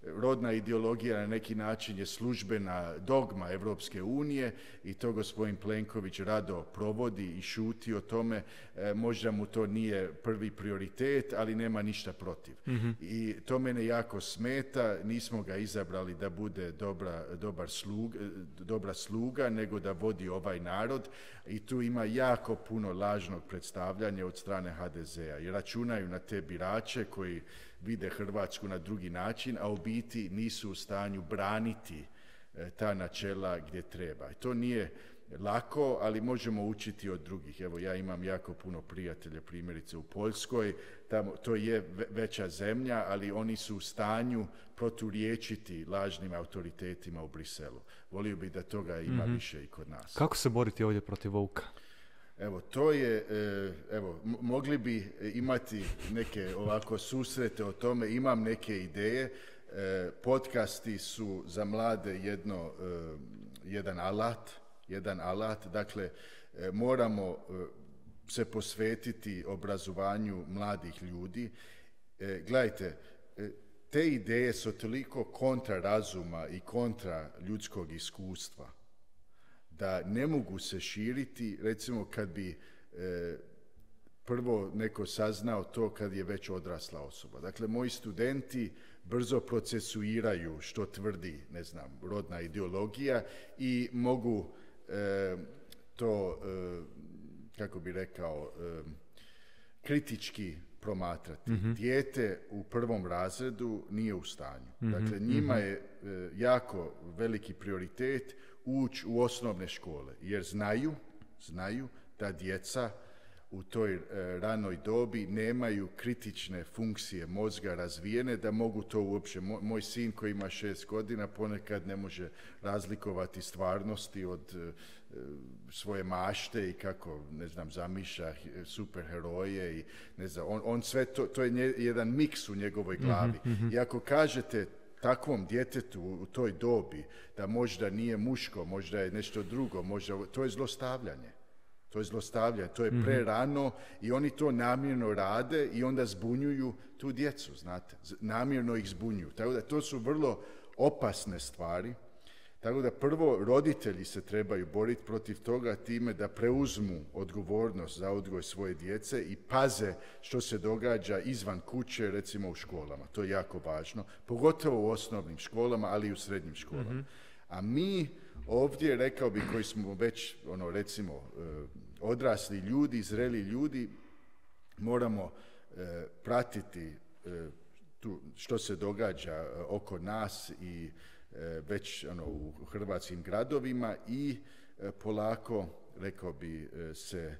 Rodna ideologija na neki način je službena dogma Evropske unije i to gospodin Plenković rado provodi i šuti o tome. Možda mu to nije prvi prioritet, ali nema ništa protiv. I to mene jako smeta. Nismo ga izabrali da bude dobra sluga, nego da vodi ovaj narod. I tu ima jako puno lažnog predstavljanja od strane HDZ-a. I računaju na te birače koji vide Hrvatsku na drugi način, a u biti nisu u stanju braniti ta načela gdje treba. I to nije lako, ali možemo učiti od drugih. Evo, ja imam jako puno prijatelja, primjerice u Poljskoj, tamo, to je veća zemlja, ali oni su u stanju proturječiti lažnim autoritetima u Briselu. Volio bih da toga ima više i kod nas. Kako se boriti ovdje protiv Vuka? Evo, to je, mogli bi imati neke ovako susrete o tome, imam neke ideje. Podcasti su za mlade jedan alat, dakle, moramo se posvetiti obrazovanju mladih ljudi. Gledajte, te ideje su toliko kontra razuma i kontra ljudskog iskustva da ne mogu se širiti, recimo kad bi prvo neko saznao to kad je već odrasla osoba. Dakle, moji studenti brzo procesuiraju što tvrdi, ne znam, rodna ideologija i mogu to, kako bi rekao, kritički promatrati. Dijete u prvom razredu nije u stanju. Dakle, njima je jako veliki prioritet ući u osnovne škole, jer znaju da djeca u toj ranoj dobi nemaju kritične funkcije mozga razvijene da mogu to uopće. Moj sin koji ima 6 godina ponekad ne može razlikovati stvarnosti od svoje mašte i kako, ne znam, zamišlja superheroje i ne znam, on sve to je jedan miks u njegovoj glavi. I ako kažete takvom djetetu u toj dobi da možda nije muško, možda je nešto drugo, možda, to je zlostavljanje. To je prerano i oni to namjerno rade i onda zbunjuju tu djecu, znate. Namjerno ih zbunjuju. Tako da to su vrlo opasne stvari. Tako da prvo roditelji se trebaju boriti protiv toga time da preuzmu odgovornost za odgoj svoje djece i paze što se događa izvan kuće, recimo u školama. To je jako važno, pogotovo u osnovnim školama, ali i u srednjim školama. A mi ovdje, rekao bih, koji smo već, recimo, odrasli ljudi, zreli ljudi, moramo pratiti što se događa oko nas i već u hrvatskim gradovima i polako, rekao bi, se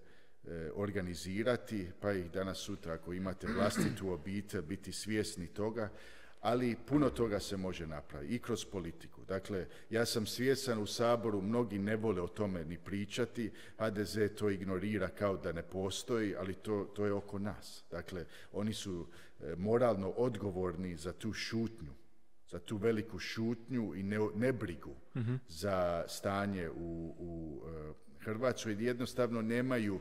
organizirati, pa i danas sutra ako imate vlastitu obitelj, biti svjesni toga, ali puno toga se može napraviti i kroz politiku. Dakle, ja sam svjestan u Saboru, mnogi ne vole o tome ni pričati, HDZ to ignorira kao da ne postoji, ali to je oko nas. Dakle, oni su moralno odgovorni za tu šutnju, za tu veliku šutnju i nebrigu za stanje u Hrvatskoj. Jednostavno nemaju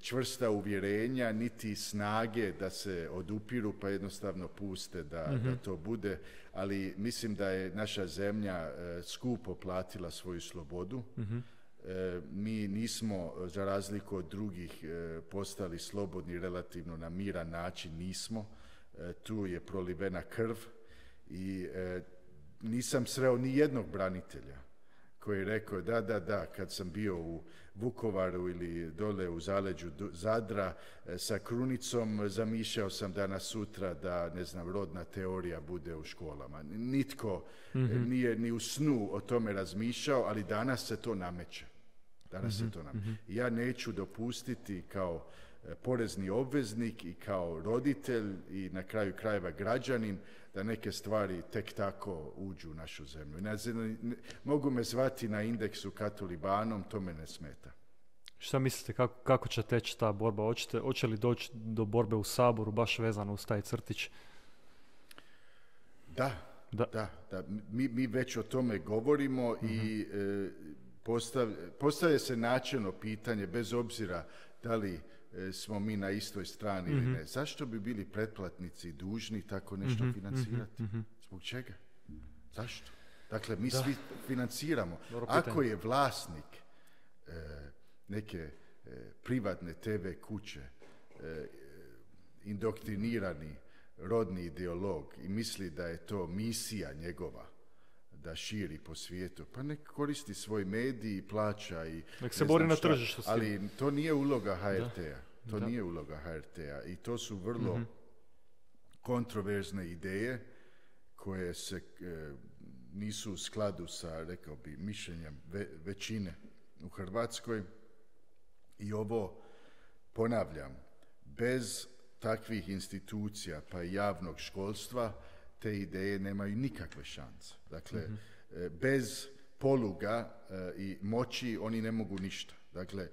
čvrsta uvjerenja, niti snage da se odupiru, pa jednostavno puste da to bude. Ali mislim da je naša zemlja skupo platila svoju slobodu. Mi nismo, za razliku od drugih, postali slobodni relativno na miran način, nismo. Tu je prolivena krv i nisam sreo ni jednog branitelja koji je rekao da, kad sam bio u Vukovaru ili dole u zaleđu Zadra sa krunicom, zamišljao sam danas sutra da, ne znam, rodna teorija bude u školama. Nitko nije ni u snu o tome razmišljao, ali danas se to nameće. Ja neću dopustiti kao porezni obveznik i kao roditelj i na kraju krajeva građanin da neke stvari tek tako uđu u našu zemlju. Mogu me zvati na indeksu katolibanom, to me ne smeta. Šta mislite, kako će teći ta borba? Hoće li doći do borbe u Saboru baš vezano uz taj crtić? Da. Mi već o tome govorimo i postavlja se načelno pitanje, bez obzira da li smo mi na istoj strani ili ne. Zašto bi bili pretplatnici dužni tako nešto financirati? Zbog čega? Zašto? Dakle, mi svi financiramo. Ako je vlasnik neke privatne TV kuće indoktrinirani rodni ideolog i misli da je to misija njegova da širi po svijetu, pa nek koristi svoj medij i plaća i nek se bori na tržištu. Ali to nije uloga HRT-a. Nije uloga HRT-a i to su vrlo kontroverzne ideje koje se nisu u skladu sa, rekao bi, mišljenjem većine u Hrvatskoj. I ovo, ponavljam, bez takvih institucija pa i javnog školstva te ideje nemaju nikakve šanse. Dakle, bez poluga i moći oni ne mogu ništa. Dakle,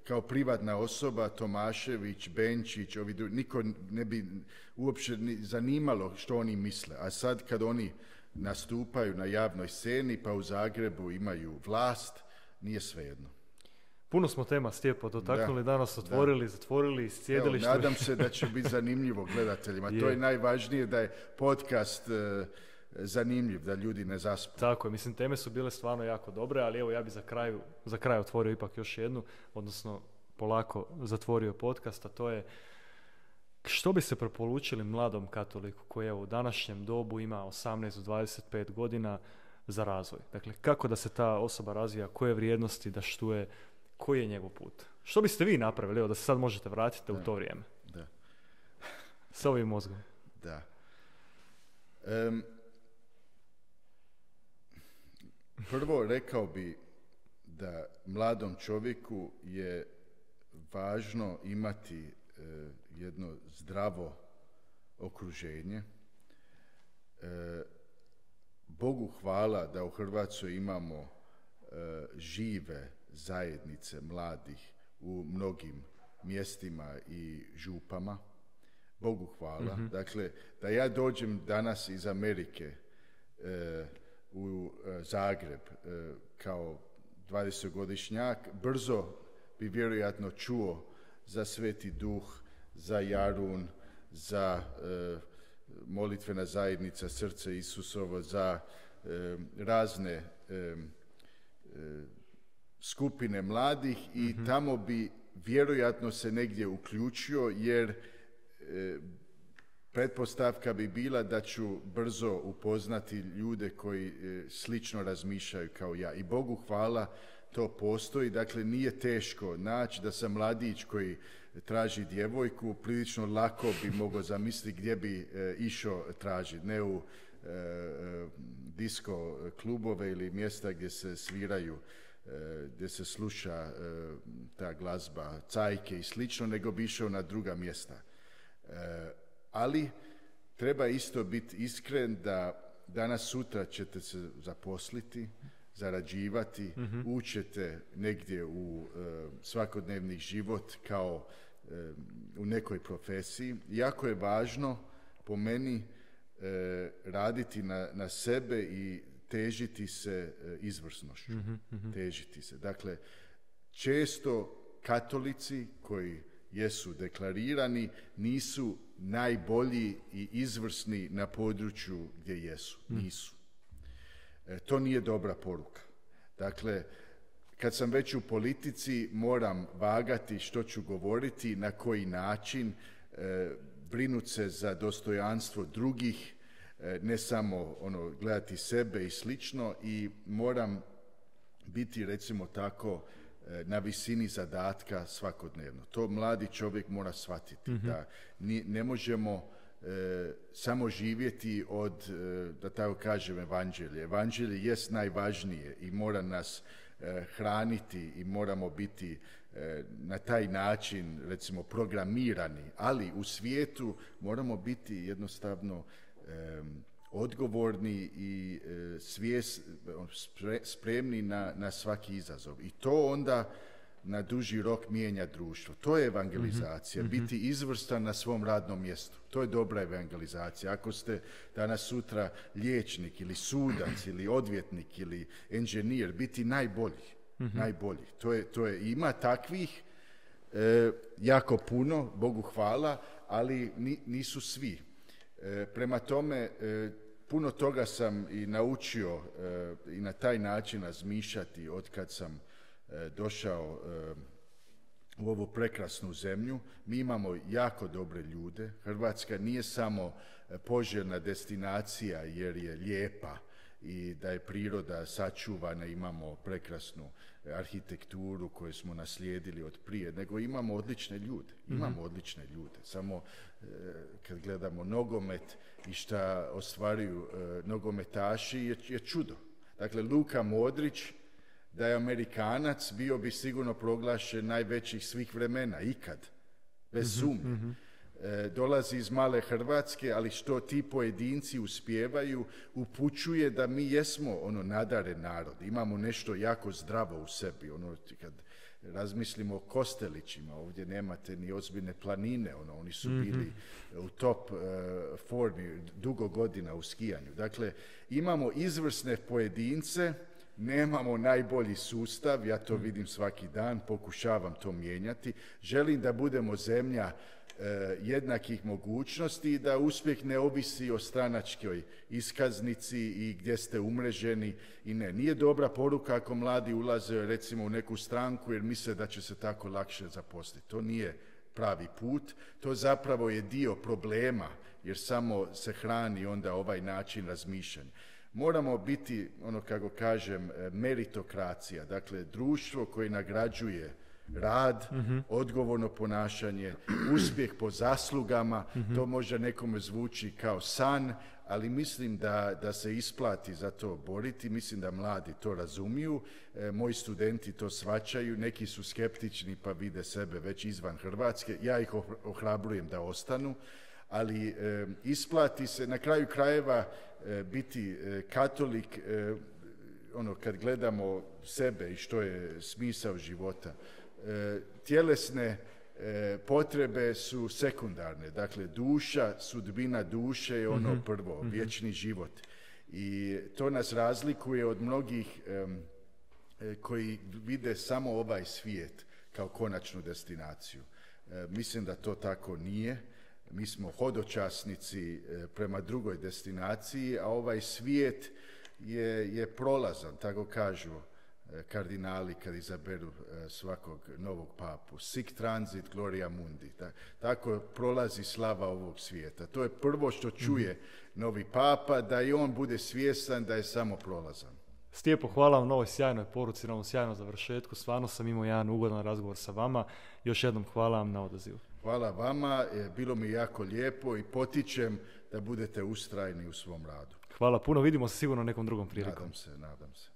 kao privatna osoba, Tomašević, Benčić, niko ne bi uopće zanimalo što oni misle. A sad kad oni nastupaju na javnoj sceni, pa u Zagrebu imaju vlast, nije svejedno. Puno smo tema, Stjepo, dotaknuli, danas otvorili, zatvorili, sjedili. Nadam se da će biti zanimljivo gledateljima. To je najvažnije, da je podcast zanimljiv, da ljudi ne zaspu. Tako je, mislim, teme su bile stvarno jako dobre, ali evo ja bi za kraj otvorio ipak još jednu, odnosno polako zatvorio podcast, a to je što bi se preporučili mladom katoliku koji evo u današnjem dobu ima 18 do 25 godina za razvoj. Dakle, kako da se ta osoba razvija, koje vrijednosti da štuje, koji je njegov put? Što biste vi napravili, evo da se sad možete vratiti u to vrijeme? Da. S ovim mozgom. Da. Prvo rekao bi da mladom čovjeku je važno imati jedno zdravo okruženje. Bogu hvala da u Hrvatskoj imamo žive zajednice mladih u mnogim mjestima i župama. Bogu hvala. Dakle, da ja dođem danas iz Amerike u Zagreb kao 20-godišnjak, brzo bi vjerojatno čuo za Sveti Duh, za Jarun, za molitvena zajednica Srce Isusovo, za razne skupine mladih i tamo bi vjerojatno se negdje uključio, jer pretpostavka bi bila da ću brzo upoznati ljude koji slično razmišljaju kao ja. I Bogu hvala, to postoji. Dakle, nije teško naći da sam mladić koji traži djevojku, prilično lako bi mogao zamisliti gdje bi išao tražiti. Ne u disko klubove ili mjesta gdje se sviraju, gdje se sluša ta glazba, cajke i slično, nego bi išao na druga mjesta. Ali treba isto biti iskren da danas sutra ćete se zaposliti, zarađivati, učete negdje u svakodnevni život kao u nekoj profesiji. Jako je važno po meni raditi na sebe i težiti se izvrsnošću. Težiti se. Dakle, često katolici koji jesu deklarirani nisu najbolji i izvrsni na području gdje jesu. Nisu. To nije dobra poruka. Dakle, kad sam već u politici, moram vagati što ću govoriti, na koji način, brinuti se za dostojanstvo drugih, ne samo gledati sebe i slično, i moram biti, recimo tako, na visini zadatka svakodnevno. To mladi čovjek mora shvatiti, da ne možemo samo živjeti od, da tako kažem, evanđelje. Evanđelje jest najvažnije i mora nas hraniti i moramo biti na taj način, recimo, programirani, ali u svijetu moramo biti jednostavno odgovorni i spremni na svaki izazov. I to onda na duži rok mijenja društvo. To je evangelizacija. Biti izvrstan na svom radnom mjestu. To je dobra evangelizacija. Ako ste danas sutra liječnik ili sudac ili odvjetnik ili inženjer, biti najbolji. Najbolji. To je. Ima takvih jako puno, Bogu hvala, ali nisu svi. Prema tome, puno toga sam i naučio i na taj način razmišljati od kad sam došao u ovu prekrasnu zemlju. Mi imamo jako dobre ljude. Hrvatska nije samo poželjna destinacija jer je lijepa i da je priroda sačuvana, imamo prekrasnu arhitekturu koju smo naslijedili od prije, nego imamo odlične ljude. Imamo odlične ljude. Samo kad gledamo nogomet i šta ostvaruju nogometaši je čudo. Dakle, Luka Modrić, da je Amerikanac, bio bi sigurno proglašen najvećih svih vremena, ikad, bez sumnje. Dolazi iz male Hrvatske, ali što ti pojedinci uspijevaju, upućuje da mi jesmo nadaren narod. Imamo nešto jako zdravo u sebi. Kad razmislimo o Kostelićima, ovdje nemate ni ozbiljne planine, oni su bili u top formi dugo godina u skijanju. Dakle, imamo izvrsne pojedince, nemamo najbolji sustav, ja to vidim svaki dan, pokušavam to mijenjati. Želim da budemo zemlja jednakih mogućnosti i da uspjeh ne ovisi o stranačkoj iskaznici i gdje ste umreženi. I nije dobra poruka ako mladi ulaze, recimo, u neku stranku jer misle da će se tako lakše zaposliti. To nije pravi put, to zapravo je dio problema, jer samo se hrani onda ovaj način razmišljanja. Moramo biti, kako kažem, meritokracija, dakle društvo koje nagrađuje rad, odgovorno ponašanje, uspjeh po zaslugama. To možda nekome zvuči kao san, ali mislim da se isplati za to boriti. Mislim da mladi to razumiju, moji studenti to shvaćaju, neki su skeptični pa vide sebe već izvan Hrvatske. Ja ih ohrabrujem da ostanu, ali isplati se na kraju krajeva biti katolik, kad gledamo sebe i što je smisao života. Tjelesne potrebe su sekundarne, dakle duša, sudbina duše je prvo, vječni život. I to nas razlikuje od mnogih koji vide samo ovaj svijet kao konačnu destinaciju. Mislim da to tako nije. Mi smo hodočasnici prema drugoj destinaciji, a ovaj svijet je prolazan, tako kažu kardinali kad izaberu svakog novog papu. Sic transit gloria mundi. Tako prolazi slava ovog svijeta. To je prvo što čuje novi papa, da i on bude svjestan da je samo prolazan. Stijepo, hvala vam na ovoj sjajnoj poruci, na ovom sjajnom završetku. Stvarno sam imao jedan ugodan razgovor sa vama. Još jednom hvala vam na odazivu. Hvala vama, bilo mi jako lijepo i potičem da budete ustrajni u svom radu. Hvala puno, vidimo se sigurno nekom drugom prilikom. Nadam se.